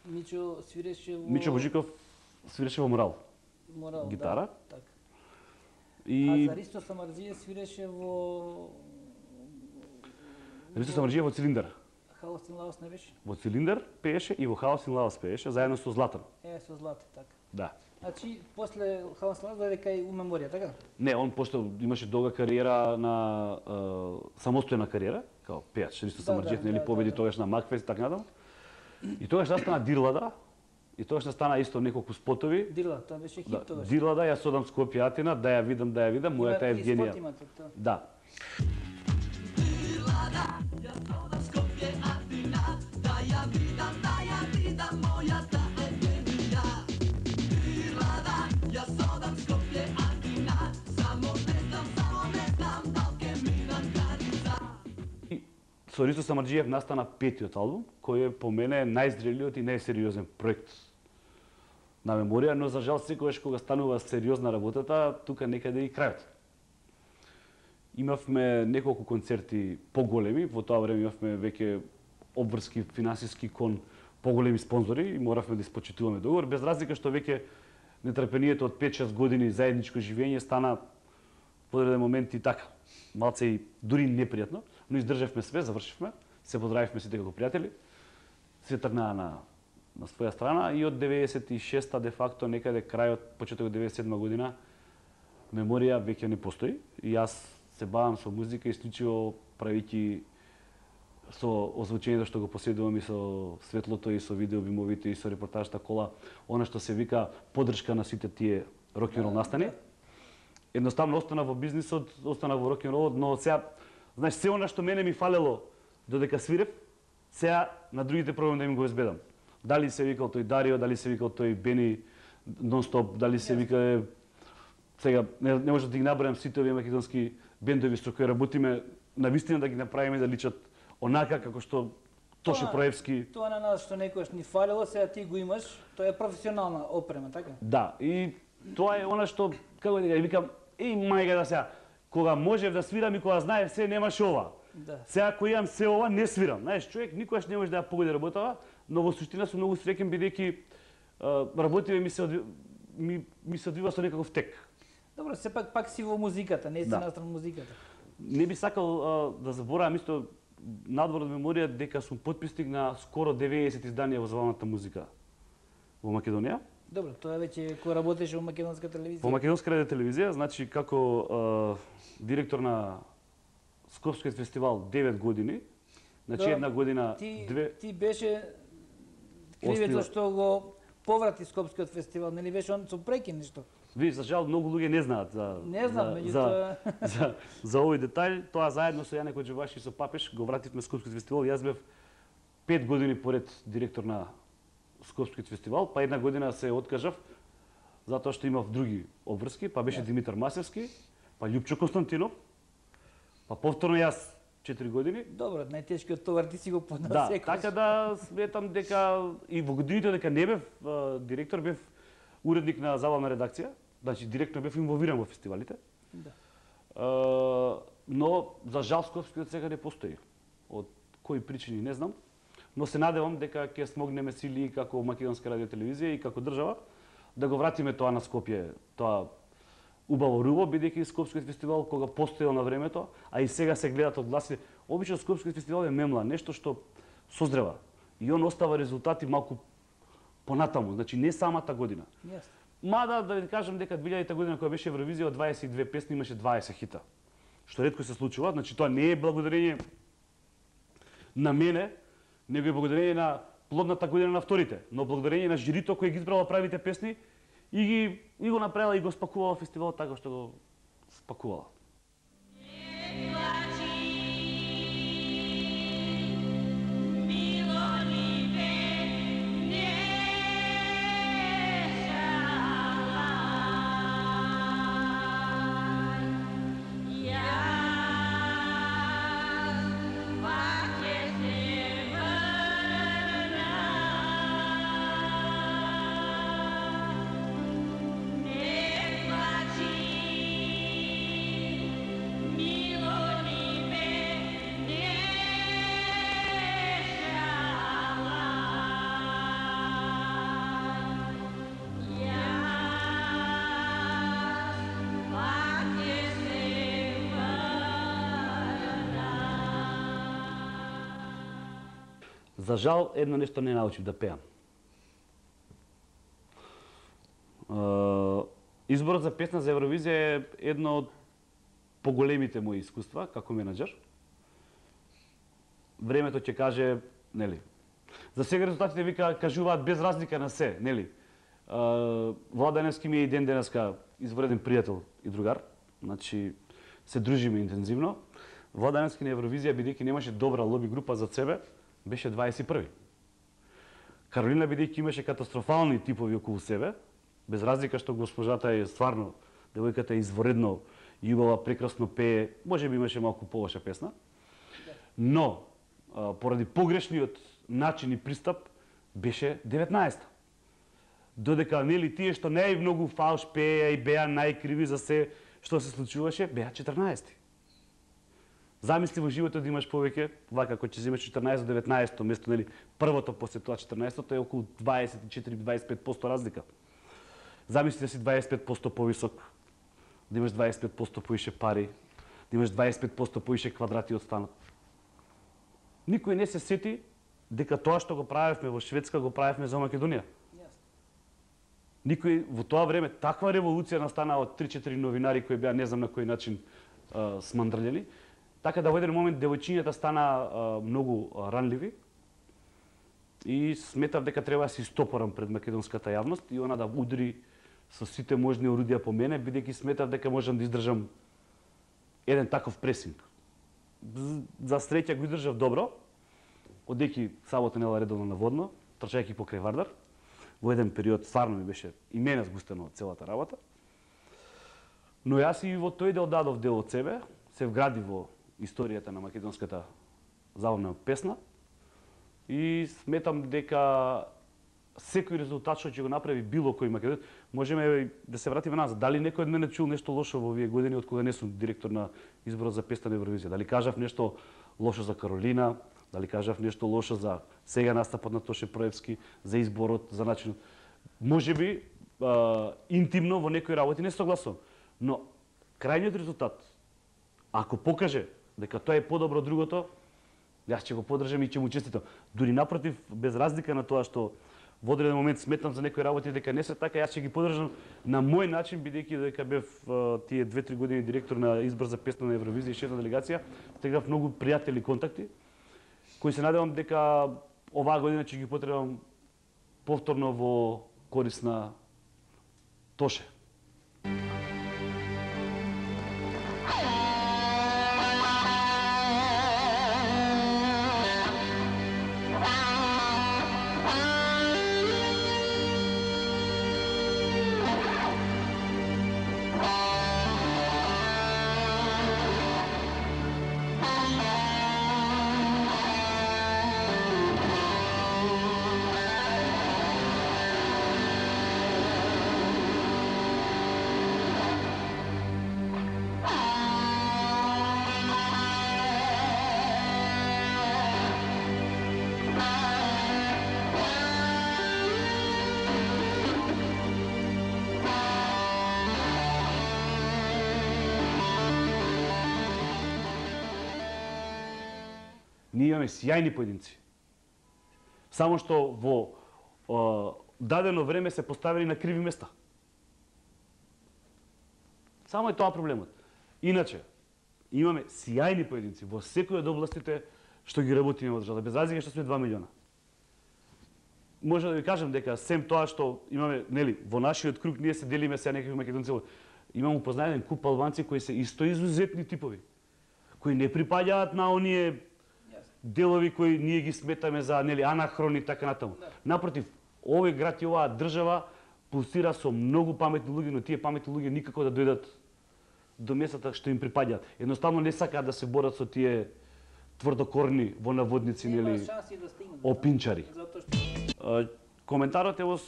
Speaker 1: Мичо свиреше во
Speaker 2: Мичо Божиков свиреше во Морал,
Speaker 1: Морал,
Speaker 2: гитара.
Speaker 1: Да, така.
Speaker 2: и
Speaker 1: А за Ристо Самарџиев свиреше во
Speaker 2: Ристо Самарџиев во Цилиндар.
Speaker 1: Хаос и Лаос не беше?
Speaker 2: Во Цилиндар пееше и во Хаос и Лаос пееше заедно со Златан.
Speaker 1: Е, со Злате, така.
Speaker 2: Да.
Speaker 1: Значи, после Хаос и Лаос дојде кај у Меморија, така?
Speaker 2: Не, он пошто имаше долга кариера на е, самостојна кариера, као пејач. Ристо
Speaker 1: Да,
Speaker 2: Самарџиев
Speaker 1: да,
Speaker 2: нели
Speaker 1: да,
Speaker 2: победи
Speaker 1: да, да.
Speaker 2: тогаш на Макфест и така натаму. И тогаш настана Дирлада. И тогаш настана исто неколку спотови.
Speaker 1: Дирла, тоа беше хит
Speaker 2: Да,
Speaker 1: тогаш.
Speaker 2: Дирлада, јас одам Скопје Атина, да ја видам, да ја видам, мојата
Speaker 1: Има и
Speaker 2: Евгенија.
Speaker 1: спот имате, тоа.
Speaker 2: Да. И со Ристо Самарџиев настана петиот албум, кој е по мене најзрелиот и најсериозен проект на Меморија, но за жал секогаш кога станува сериозна работата, тука некаде и крајот. Имавме неколку концерти поголеми, во тоа време имавме веќе обврски финансиски кон поголеми спонзори и моравме да испочитуваме договор, без разлика што веќе нетрпението од пет-шест години заедничко живење стана во одреден момент и така, малце и дури непријатно, но издржавме све, завршивме, се поздравивме сите како пријатели, се тргнаа на на своја страна и од деветдесет и шеста де факто некаде крајот, почеток деветдесет и седма година, Меморија веќе не постои и јас се бавам со музика исклучиво правејќи со озвучењето што го поседувам и со светлото и со видеобимовите и со репортажата кола, она што се вика поддршка на сите тие рок-н-рол настани. Едноставно остана во бизнисот, остана во рок-н-ролот, но сега, знаеш, се она што мене ми фалело додека свирев, сега на другите пробам да им го избедам. Дали се викал тој Дарио, дали се викал тој Бени Нонстоп, дали се вика сега не, не може да ги набројам сите овие македонски бендови со кои работиме, навистина да ги направиме да личат онака како што Тоше Проевски.
Speaker 1: Тоа на нас што некојаш ни фалело, сега ти го имаш, тоа е професионална опрема, така?
Speaker 2: Да, и тоа е она што како да викам, еј мајга да сега, кога можев да свирам и кога знаев се немаше ова.
Speaker 1: Да.
Speaker 2: Сега кога имам се ова не свирам. Знаеш, човек никогаш не може да ја погоди работава, но во суштина сум многу среќен бидејќи работиве ми се одви... ми, ми се одвива со некаков тек.
Speaker 1: Добро, сепак пак си во музиката, не си
Speaker 2: Да.
Speaker 1: настран музиката.
Speaker 2: Не би сакал а, да заборавам исто надвор од меморија дека сум потписник на скоро деветдесет изданија во забавната музика во Македонија.
Speaker 1: Добро, тоа веќе кој работеше во македонска телевизија.
Speaker 2: Во Македонска радио телевизија, значи како а, директор на Скопскиот фестивал девет години, значи
Speaker 1: Да,
Speaker 2: една година
Speaker 1: Ти,
Speaker 2: две
Speaker 1: ти беше кривецот
Speaker 2: Оснива-
Speaker 1: што го поврати Скопскиот фестивал, нели беше он со прекин нешто?
Speaker 2: Ви, за жал, многу луѓе не знаат за
Speaker 1: Не знам,
Speaker 2: за,
Speaker 1: меѓутоа
Speaker 2: за, за, за овој детај. Тоа заедно со Јане Коџеваши и со Папеш го вративме Скопскиот фестивал. Јас бев пет години поред директор на Скопскиот фестивал, па една година се откажав затоа што имав други обврски, па беше
Speaker 1: Јас.
Speaker 2: Димитар Масевски, па Љупчо Константинов, па повторно јас четири години.
Speaker 1: добро, најтешкиот товар ти си го поднал
Speaker 2: Да,
Speaker 1: секојаш.
Speaker 2: така да сметам дека и во годините дека не бев а, директор, бев уредник на забавна редакција, значи директно бев инволвиран во фестивалите.
Speaker 1: Да.
Speaker 2: А, но за жал Скопскиот сега не постои. Од кои причини не знам, но се надевам дека ќе смогнеме сили и како Македонска радио телевизија и како држава да го вратиме тоа на Скопје, тоа убаво руво, бидејќи Скопскиот фестивал кога постоел на времето, а и сега се гледат одгласи. Обично Скопскиот фестивал е мемла, нешто што созрева и он остава резултати малку понатаму, значи не самата година.
Speaker 1: Јасно.
Speaker 2: Мада да ви кажам дека две илјадета година кога беше Евровизија од дваесет и две песни имаше дваесет хита. Што ретко се случува, значи тоа не е благодарење на мене, него е благодарење на плодната година на вторите, но благодарење на жирито кој ги избрало правите песни и ги и го направила и го спакувала фестивалот така што го спакувала. За жал, едно нешто не научив да пеам. Изборот за песна за Евровизија е едно од поголемите мои искуства како менаџер. Времето ќе каже, нели. За сега резултатите вика кажуваат без разлика на се, нели. Владаневски ми е и ден денеска извреден пријател и другар. Значи се дружиме интензивно. Владаневски на Евровизија бидејќи немаше добра лоби група за себе, беше дваесет и први. Каролина бидејќи имаше катастрофални типови околу себе, без разлика што госпожата е стварно, девојката е изворедно и убава, прекрасно пее, може би имаше малку полоша песна, но а, поради погрешниот начин и пристап беше деветнаесета. Додека нели тие што најмногу фалш пееа и беа најкриви за се што се случуваше, беа четрнаесети. Замисли во животот да имаш повеќе, вака кога ќе земеш четрнаесет до деветнаесет место, нели, првото после тоа четрнаесет е околу дваесет и четири до дваесет и пет проценти разлика. Замисли да си дваесет и пет проценти повисок, да имаш дваесет и пет проценти поише пари, да имаш дваесет и пет проценти поише квадрати од станот. Никој не се сети дека тоа што го правевме во Шведска го правевме за Македонија. Никој во тоа време таква револуција настана од три-четири новинари кои беа не знам на кој начин а, смандрљени. Така да во еден момент девојчињата стана а, многу а, ранливи и сметав дека треба да се истопорам пред македонската јавност и она да удри со сите можни орудија по мене, бидејќи сметав дека можам да издржам еден таков пресинг. За среќа го издржав добро, одејќи сабота недела редовно на водно, трчајќи покрај Вардар. Во еден период стварно ми беше и мене сгустено од целата работа. Но јас и во тој дел дадов дел од себе, се вгради во историјата на македонската забавна песна и сметам дека секој резултат што ќе го направи било кој македонец, можеме да се вратиме назад. Дали некој од мене чул нешто лошо во овие години од кога не сум директор на изборот за песна на Евровизија? Дали кажав нешто лошо за Каролина? Дали кажав нешто лошо за сега настапот на Тоше Проевски, за изборот, за начинот? Можеби а, интимно во некои работи не согласувам, но крајниот резултат, ако покаже дека тоа е подобро од другото, јас ќе го поддржам и ќе му честитам. Дури напротив, без разлика на тоа што во одреден момент сметам за некои работи дека не се така, јас ќе ги поддржам на мој начин, бидејќи дека бев а, тие две-три години директор на избор за песна на Евровизија и шеф на делегација, стегнав многу пријатели контакти, кои се надевам дека оваа година ќе ги потребам повторно во корист на Тоше. Ние имаме сјајни поединци. Само што во о, дадено време се поставили на криви места. Само е тоа проблемот. Иначе, имаме сјајни поединци во секој од областите што ги работиме во државата, без разлика што сме два милиона. Може да ви кажам дека сем тоа што имаме, нели, во нашиот круг ние се делиме сега некакви македонци. Имам упознаен куп албанци кои се исто изузетни типови, кои не припаѓаат на оние делови кои ние ги сметаме за, нели, анахрони и така натаму. Да. Напротив, овој град и оваа држава пулсира со многу паметни луѓе, но тие паметни луѓе никако да дојдат до местата што им припаѓаат. Едноставно не сакаат да се борат со тие тврдокорни во наводници, нели,
Speaker 1: да
Speaker 2: опинчари. Што... Коментарот е во,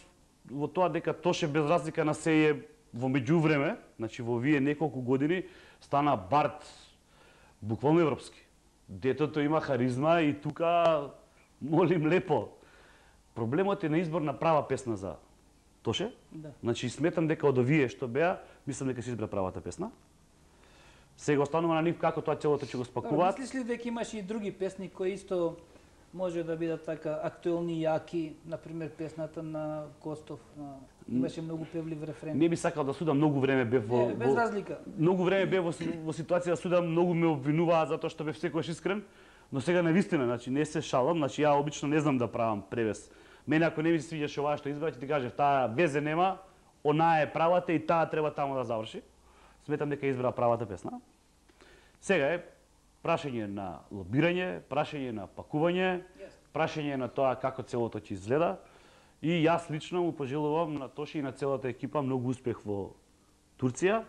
Speaker 2: во тоа дека Тоше без разлика на се е во меѓувреме, значи во овие неколку години стана бард буквално европски. Детето има харизма и тука молим лепо. Проблемот е на избор на права песна за Тоше.
Speaker 1: Да.
Speaker 2: Значи сметам дека од овие што беа, мислам дека се избра правата песна. Сега останува на нив како тоа целото ќе го спакуваат.
Speaker 1: Мислиш ли дека имаш и други песни кои исто може да бидат така актуелни, јаки, например песната на Костов, на... имаше многу певлив рефрен.
Speaker 2: Не би сакал да судам, многу време бев во...
Speaker 1: Не, без разлика.
Speaker 2: Многу време бев во, во ситуација да судам, многу ме обвинуваат затоа што бев секогаш искрен, но сега навистина, значи не се шалам, значи ја обично не знам да правам превес. Мене ако не ми се свиѓаше оваа што избрав, ќе ти кажев, таа везе нема, онаа е правата и таа треба таму да заврши. Сметам дека избра правата песна. Сега е прашање на лобирање, прашање на пакување, yes. прашање на тоа како целото ќе изгледа. И јас лично му пожелувам на Тоше и на целата екипа многу успех во Турција.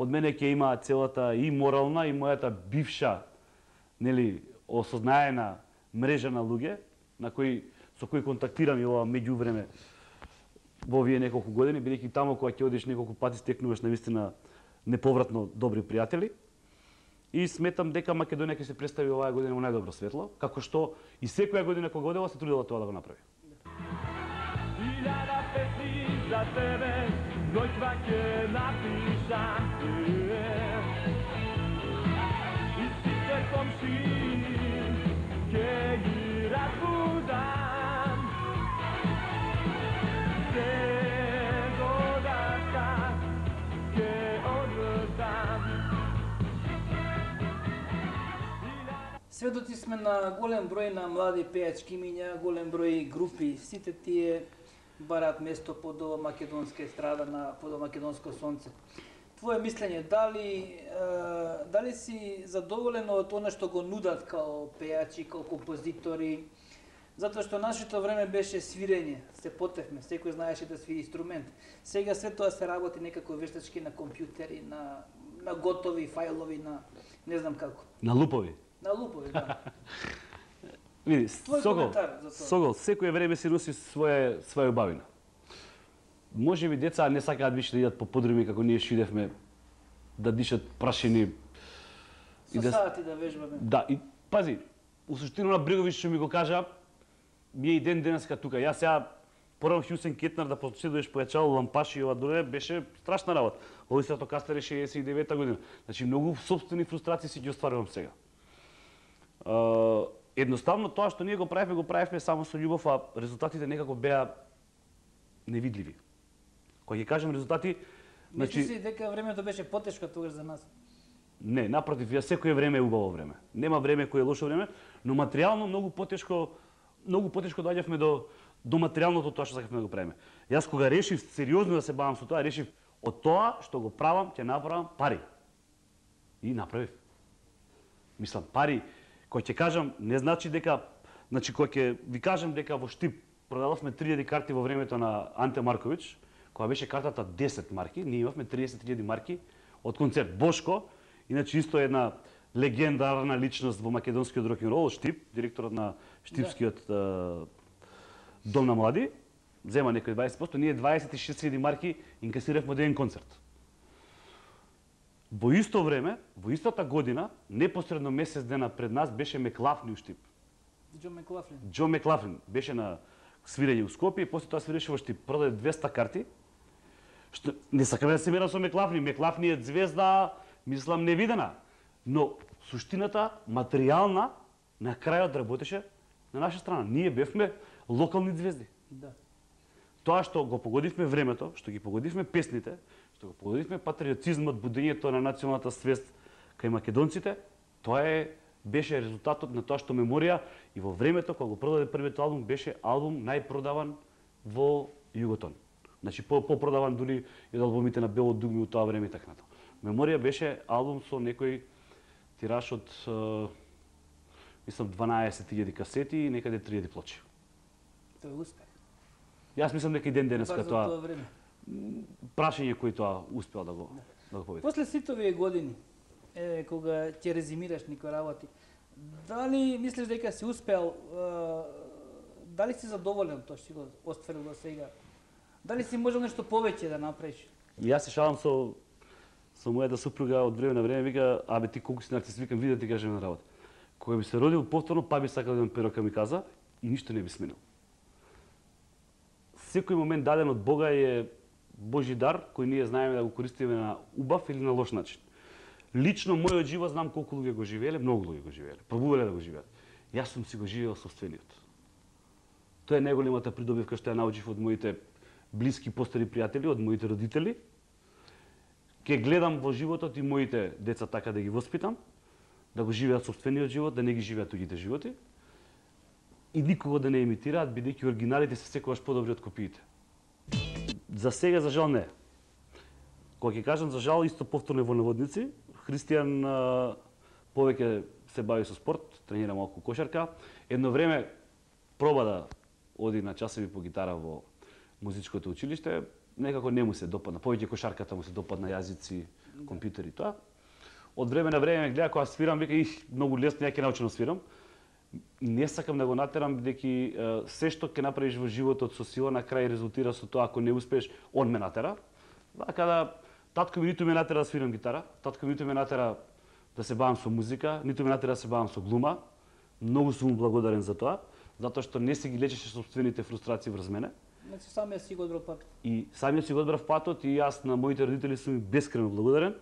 Speaker 2: Од мене ќе има целата и морална и мојата бивша, нели, осознаена мрежа на луѓе на кои со кои контактирам и ова меѓувреме во овие неколку години, бидејќи таму кога ќе одиш неколку пати стекнуваш навистина неповратно добри пријатели. и сметам дека Македонија ќе се представи оваа година во најдобро светло, како што и секоја година кога годела се трудела тоа да го направи.
Speaker 3: Илјада песни за тебе, ноќва ќе напишам. И сите комшии ќе ги разбудам. Се годашка ќе одвртам.
Speaker 1: Сведоци сме на голем број на млади пејачки имиња, голем број групи. Сите тие бараат место под ова македонска естрада на под ова македонско сонце. Твое мислење, дали е, дали си задоволен од она што го нудат као пејачи, као композитори? Затоа што нашето време беше свирење, се потевме, секој знаеше да свири инструмент. Сега све тоа се работи некако вештачки на компјутери, на на готови фајлови, на не знам како.
Speaker 2: На лупови.
Speaker 1: На лупови, да.
Speaker 2: Види,
Speaker 1: Твој
Speaker 2: Сокол,
Speaker 1: коментар за тоа?
Speaker 2: Сокол, секој време си носи своја своја убавина. Може би деца не сакаат више да идат по подруми како ние шидевме, да дишат прашини.
Speaker 1: Со сати да вежбаме.
Speaker 2: Да, и пази, у суштина на Бреговиќ што ми го кажа, ми е и ден денеска тука. Јас сега порам Хјусен Кетнар да поседуваш појачало лампаши и ова доле беше страшна работа. Овој Стратокастер е шеесет и девета година. Значи многу собствени фрустрации си ги остварувам сега. Uh, едноставно тоа што ние го правевме, го правевме само со љубов, а резултатите некако беа невидливи. Кога ќе кажам резултати, значи
Speaker 1: Мислиш ли дека времето беше потешко тогаш за нас?
Speaker 2: не, напротив, ја секое време е убаво време. Нема време кое е лошо време, но материјално многу потешко, многу потешко доаѓавме до до материјалното тоа што сакавме да го правиме. Јас кога решив сериозно да се бавам со тоа, решив од тоа што го правам, ќе направам пари. И направив. Мислам, пари, кој ќе кажам, не значи дека, значи кој ќе ви кажам дека во Штип продававме три илјади карти во времето на Анте Марковиќ, кога беше картата десет марки, ние имавме триесет илјади марки од концерт. Бошко, иначе исто една легендарна личност во македонскиот рок-н-рол, Штип, директорот на Штипскиот да. Дом на млади, зема некој дваесет проценти, ние дваесет и шест илјади марки инкасиравме од еден концерт. Во исто време, во истата година, непосредно месец дена пред нас беше Меклафни у Штип.
Speaker 1: Џо Меклафлин.
Speaker 2: Џо Меклафлин беше на свирење у Скопје и после тоа свиреше во Штип. Продаде двеста карти. Што не сакаме да се мера со Меклафни. Меклафни е звезда, мислам, невидена. Но суштината, материјална, на крајот работеше на наша страна. Ние бевме локални звезди.
Speaker 1: Да.
Speaker 2: Тоа што го погодивме времето, што ги погодивме песните, што го погодивме патриотизмот, будењето на националната свест кај македонците, тоа е беше резултатот на тоа што Меморија и во времето кога го продаде првиот албум беше албум најпродаван во Југотон. Значи по попродаван дури и од албумите на Бело дугми у тоа време и така натаму. Меморија беше албум со некој тираж од мислам дванаесет илјади касети и некаде три илјади плочи.
Speaker 1: Тоа е успех.
Speaker 2: Јас мислам дека и ден денеска тоа,
Speaker 1: тоа време.
Speaker 2: прашање кој тоа успеал да го да го победи.
Speaker 1: После сите овие години, е, кога ќе резимираш некои работи, дали мислиш дека си успеал, е, дали си задоволен тоа што си го остварил до сега? Дали си можел нешто повеќе да направиш?
Speaker 2: Јас се шалам со со мојата супруга од време на време, вика, абе ти колку си нарцис, викам, види да ти кажем на работа. Кога би се родил повторно, па би сакал да имам перо камиказа и ништо не би сменил. Секој момент даден од Бога е Божи дар, кој ние знаеме да го користиме на убав или на лош начин. Лично мојот живот знам колку луѓе го живееле, многу луѓе го живееле, пробувале да го живеат. Јас сум си го живеел собствениот. Тоа е најголемата придобивка што ја научив од моите блиски постари пријатели, од моите родители. Ке гледам во животот и моите деца така да ги воспитам, да го живеат собствениот живот, да не ги живеат туѓите животи и никого да не имитираат, бидејќи оригиналите се секогаш подобри од копиите. За сега, за жал, не. Кога ќе кажам за жал, исто повторно во наводници, Христијан а, повеќе се бави со спорт, тренира малку кошарка. Едно време проба да оди на часови по гитара во музичкото училиште, некако не му се допадна. Повеќе кошарката му се допадна, јазици, компјутери, тоа. Од време на време ме гледа кога свирам, вика, их, многу лесно, ја ќе научам да свирам. Не сакам да го натерам, бидејќи се што ќе направиш во животот со сила, на крај резултира со тоа, ако не успееш, он ме натера. Така да, татко ми ниту ме натера да свирам гитара, татко ми ниту ме натера да се бавам со музика, ниту ме натера да се бавам со глума. Многу сум му благодарен за тоа, затоа што не си ги лечеше собствените фрустрации врз мене.
Speaker 1: Значи самиот си го одбрав патот.
Speaker 2: И самиот си го одбрав патот и јас на моите родители сум им бескрено благодарен,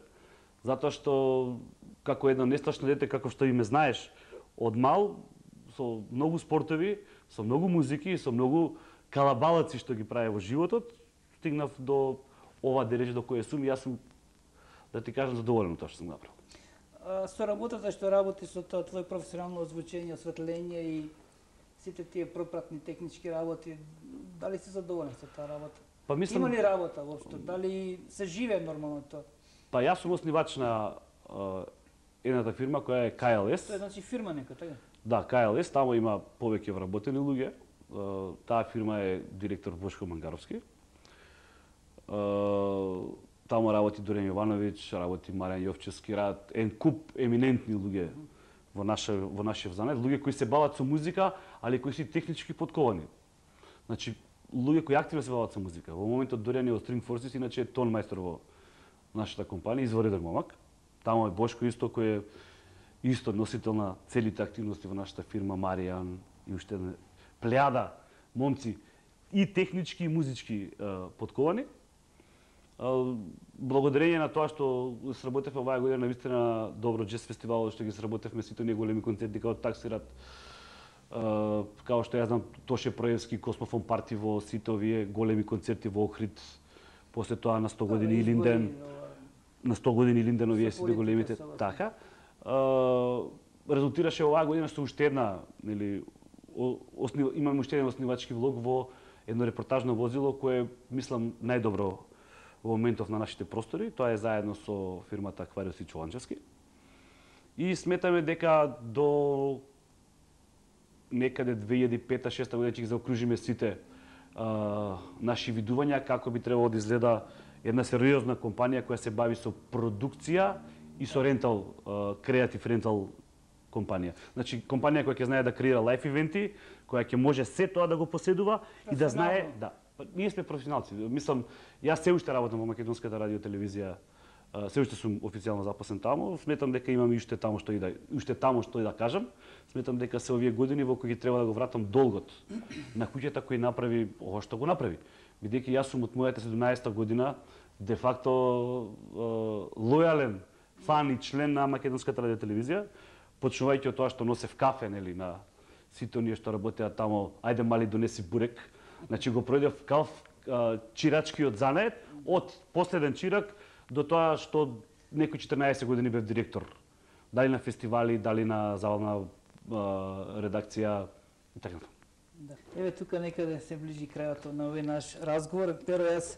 Speaker 2: затоа што како едно нестачно дете, како што и ме знаеш, од мал, со многу спортови, со многу музики и со многу калабалаци што ги прави во животот, стигнав до ова дереже до кој сум и јас сум, да ти кажам, задоволен од тоа што сум направил.
Speaker 1: Со работата што работи со тоа твој професионално озвучење, осветление и сите тие пропратни технички работи, дали си задоволен со таа работа?
Speaker 2: Па мислам...
Speaker 1: Има ли работа воопшто? Дали се живее нормално тоа?
Speaker 2: Па јас сум основач на uh, едната фирма која е К Л С.
Speaker 1: Тоа е значи фирма нека, така?
Speaker 2: Да, К Л С, тамо има повеќе вработени луѓе. Uh, таа фирма е директор Бошко Мангаровски. Uh, Тамо работи Дорен Јовановиќ, работи Маријан Јовчевски, рад ен куп еминентни луѓе во наше во нашиот занет, луѓе кои се бават со музика, али кои се технички подковани. Значи, луѓе кои активно се бават со музика. Во моментот Дорен е од String Forces, иначе е тон мајстор во нашата компанија, извареден момак. Тамо е Бошко исто кој е исто носител на целите активности во нашата фирма, Маријан и уште една плејада момци и технички и музички подковани. Благодарение на тоа што сработевме оваа година навистина добро джез фестивал, што ги сработевме сите оние големи концерти како Таксират, као што ја знам Тоше Проевски, Космофон Парти во сите овие големи концерти во Охрид, после тоа на сто години Илинден, на сто години Илинден овие сите големите, така. Резултираше оваа година со уште една, нели, имаме уште еден оснивачки влог во едно репортажно возило кое мислам најдобро во моментов на нашите простори, тоа е заедно со фирмата Аквариус и Чоланчевски. И сметаме дека до некаде две илјади и пета шеста година ќе ги заокружиме сите а, наши видувања како би требало да изгледа една сериозна компанија која се бави со продукција и со рентал, креатив рентал компанија. Значи компанија која ќе знае да креира лайф ивенти, која ќе може се тоа да го поседува и да знае, да. Ние сме професионалци. Мислам, јас се уште работам во македонската радио телевизија, се уште сум официјално запослен таму. Сметам дека имам уште таму што и да уште таму што и да кажам. Сметам дека се овие години во кои треба да го вратам долгот на куќата кој направи ова што го направи. Бидејќи јас сум од мојата седумнаесета година де факто лојален фан и член на македонската радио телевизија, почнувајќи од тоа што носев кафе, нели, на сите оние што работеа таму, ајде мали донеси бурек. Значи го пројдев калф чирачкиот занет, од последен чирак до тоа што некој четрнаесет години бев директор. Дали на фестивали, дали на забавна редакција и така.
Speaker 1: Да. Еве тука некаде се ближи крајот на овој наш разговор. Перо јас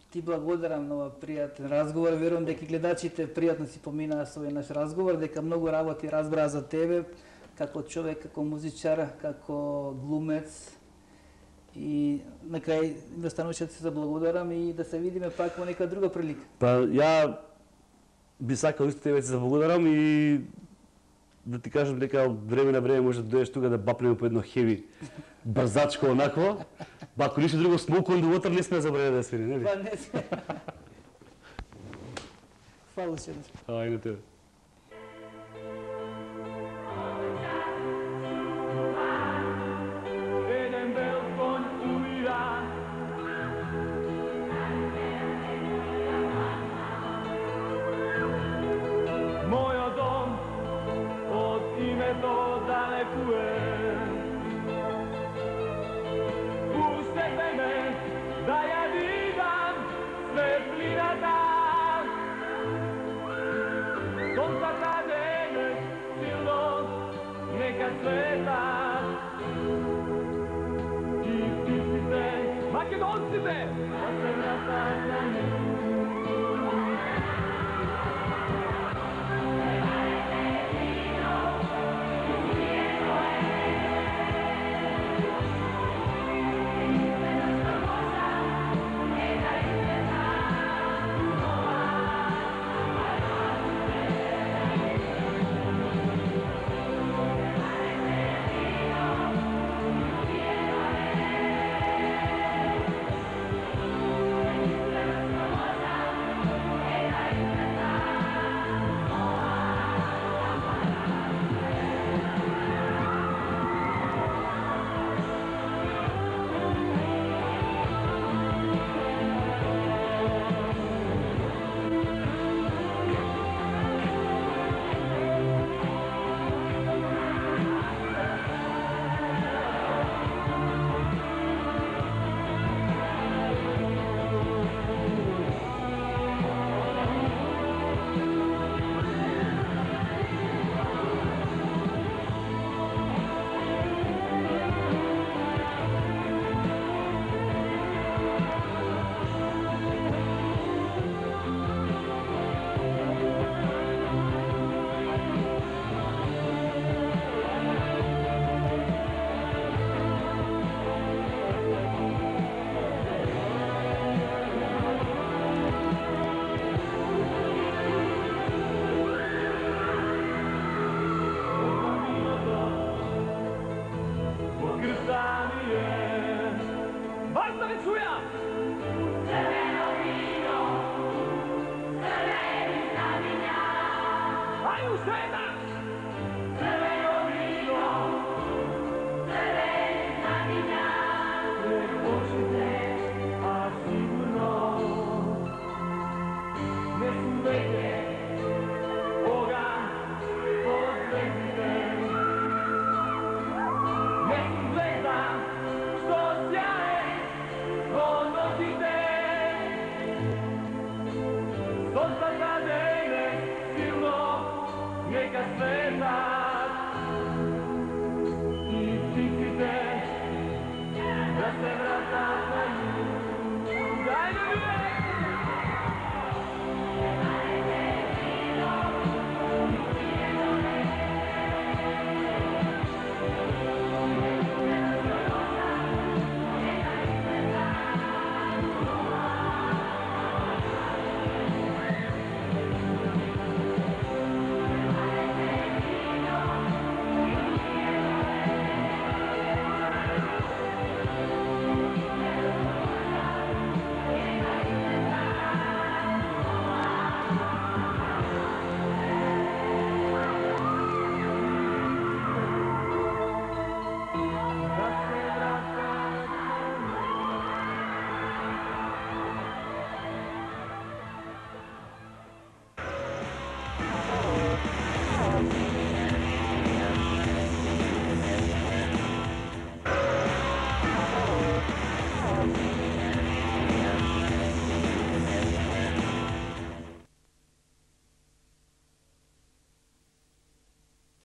Speaker 1: ти благодарам на овој пријатен разговор. Верувам дека гледачите пријатно си поминаа со овој наш разговор, дека многу работи разбраа за тебе како човек, како музичар, како глумец. И на крај ми остануваше да се заблагодарам и да се видиме пак во нека друга прилика.
Speaker 2: Па ја би сакал исто тебе да се заблагодарам и да ти кажам дека од време на време може да дојдеш тука да бапнеме по едно хеви брзачко онакво. Ба ако ништо друго Smoke on the Water не сме забравили да свири, нели?
Speaker 1: Па не сме. Фала се.
Speaker 2: Ај на тебе.
Speaker 3: Македонците!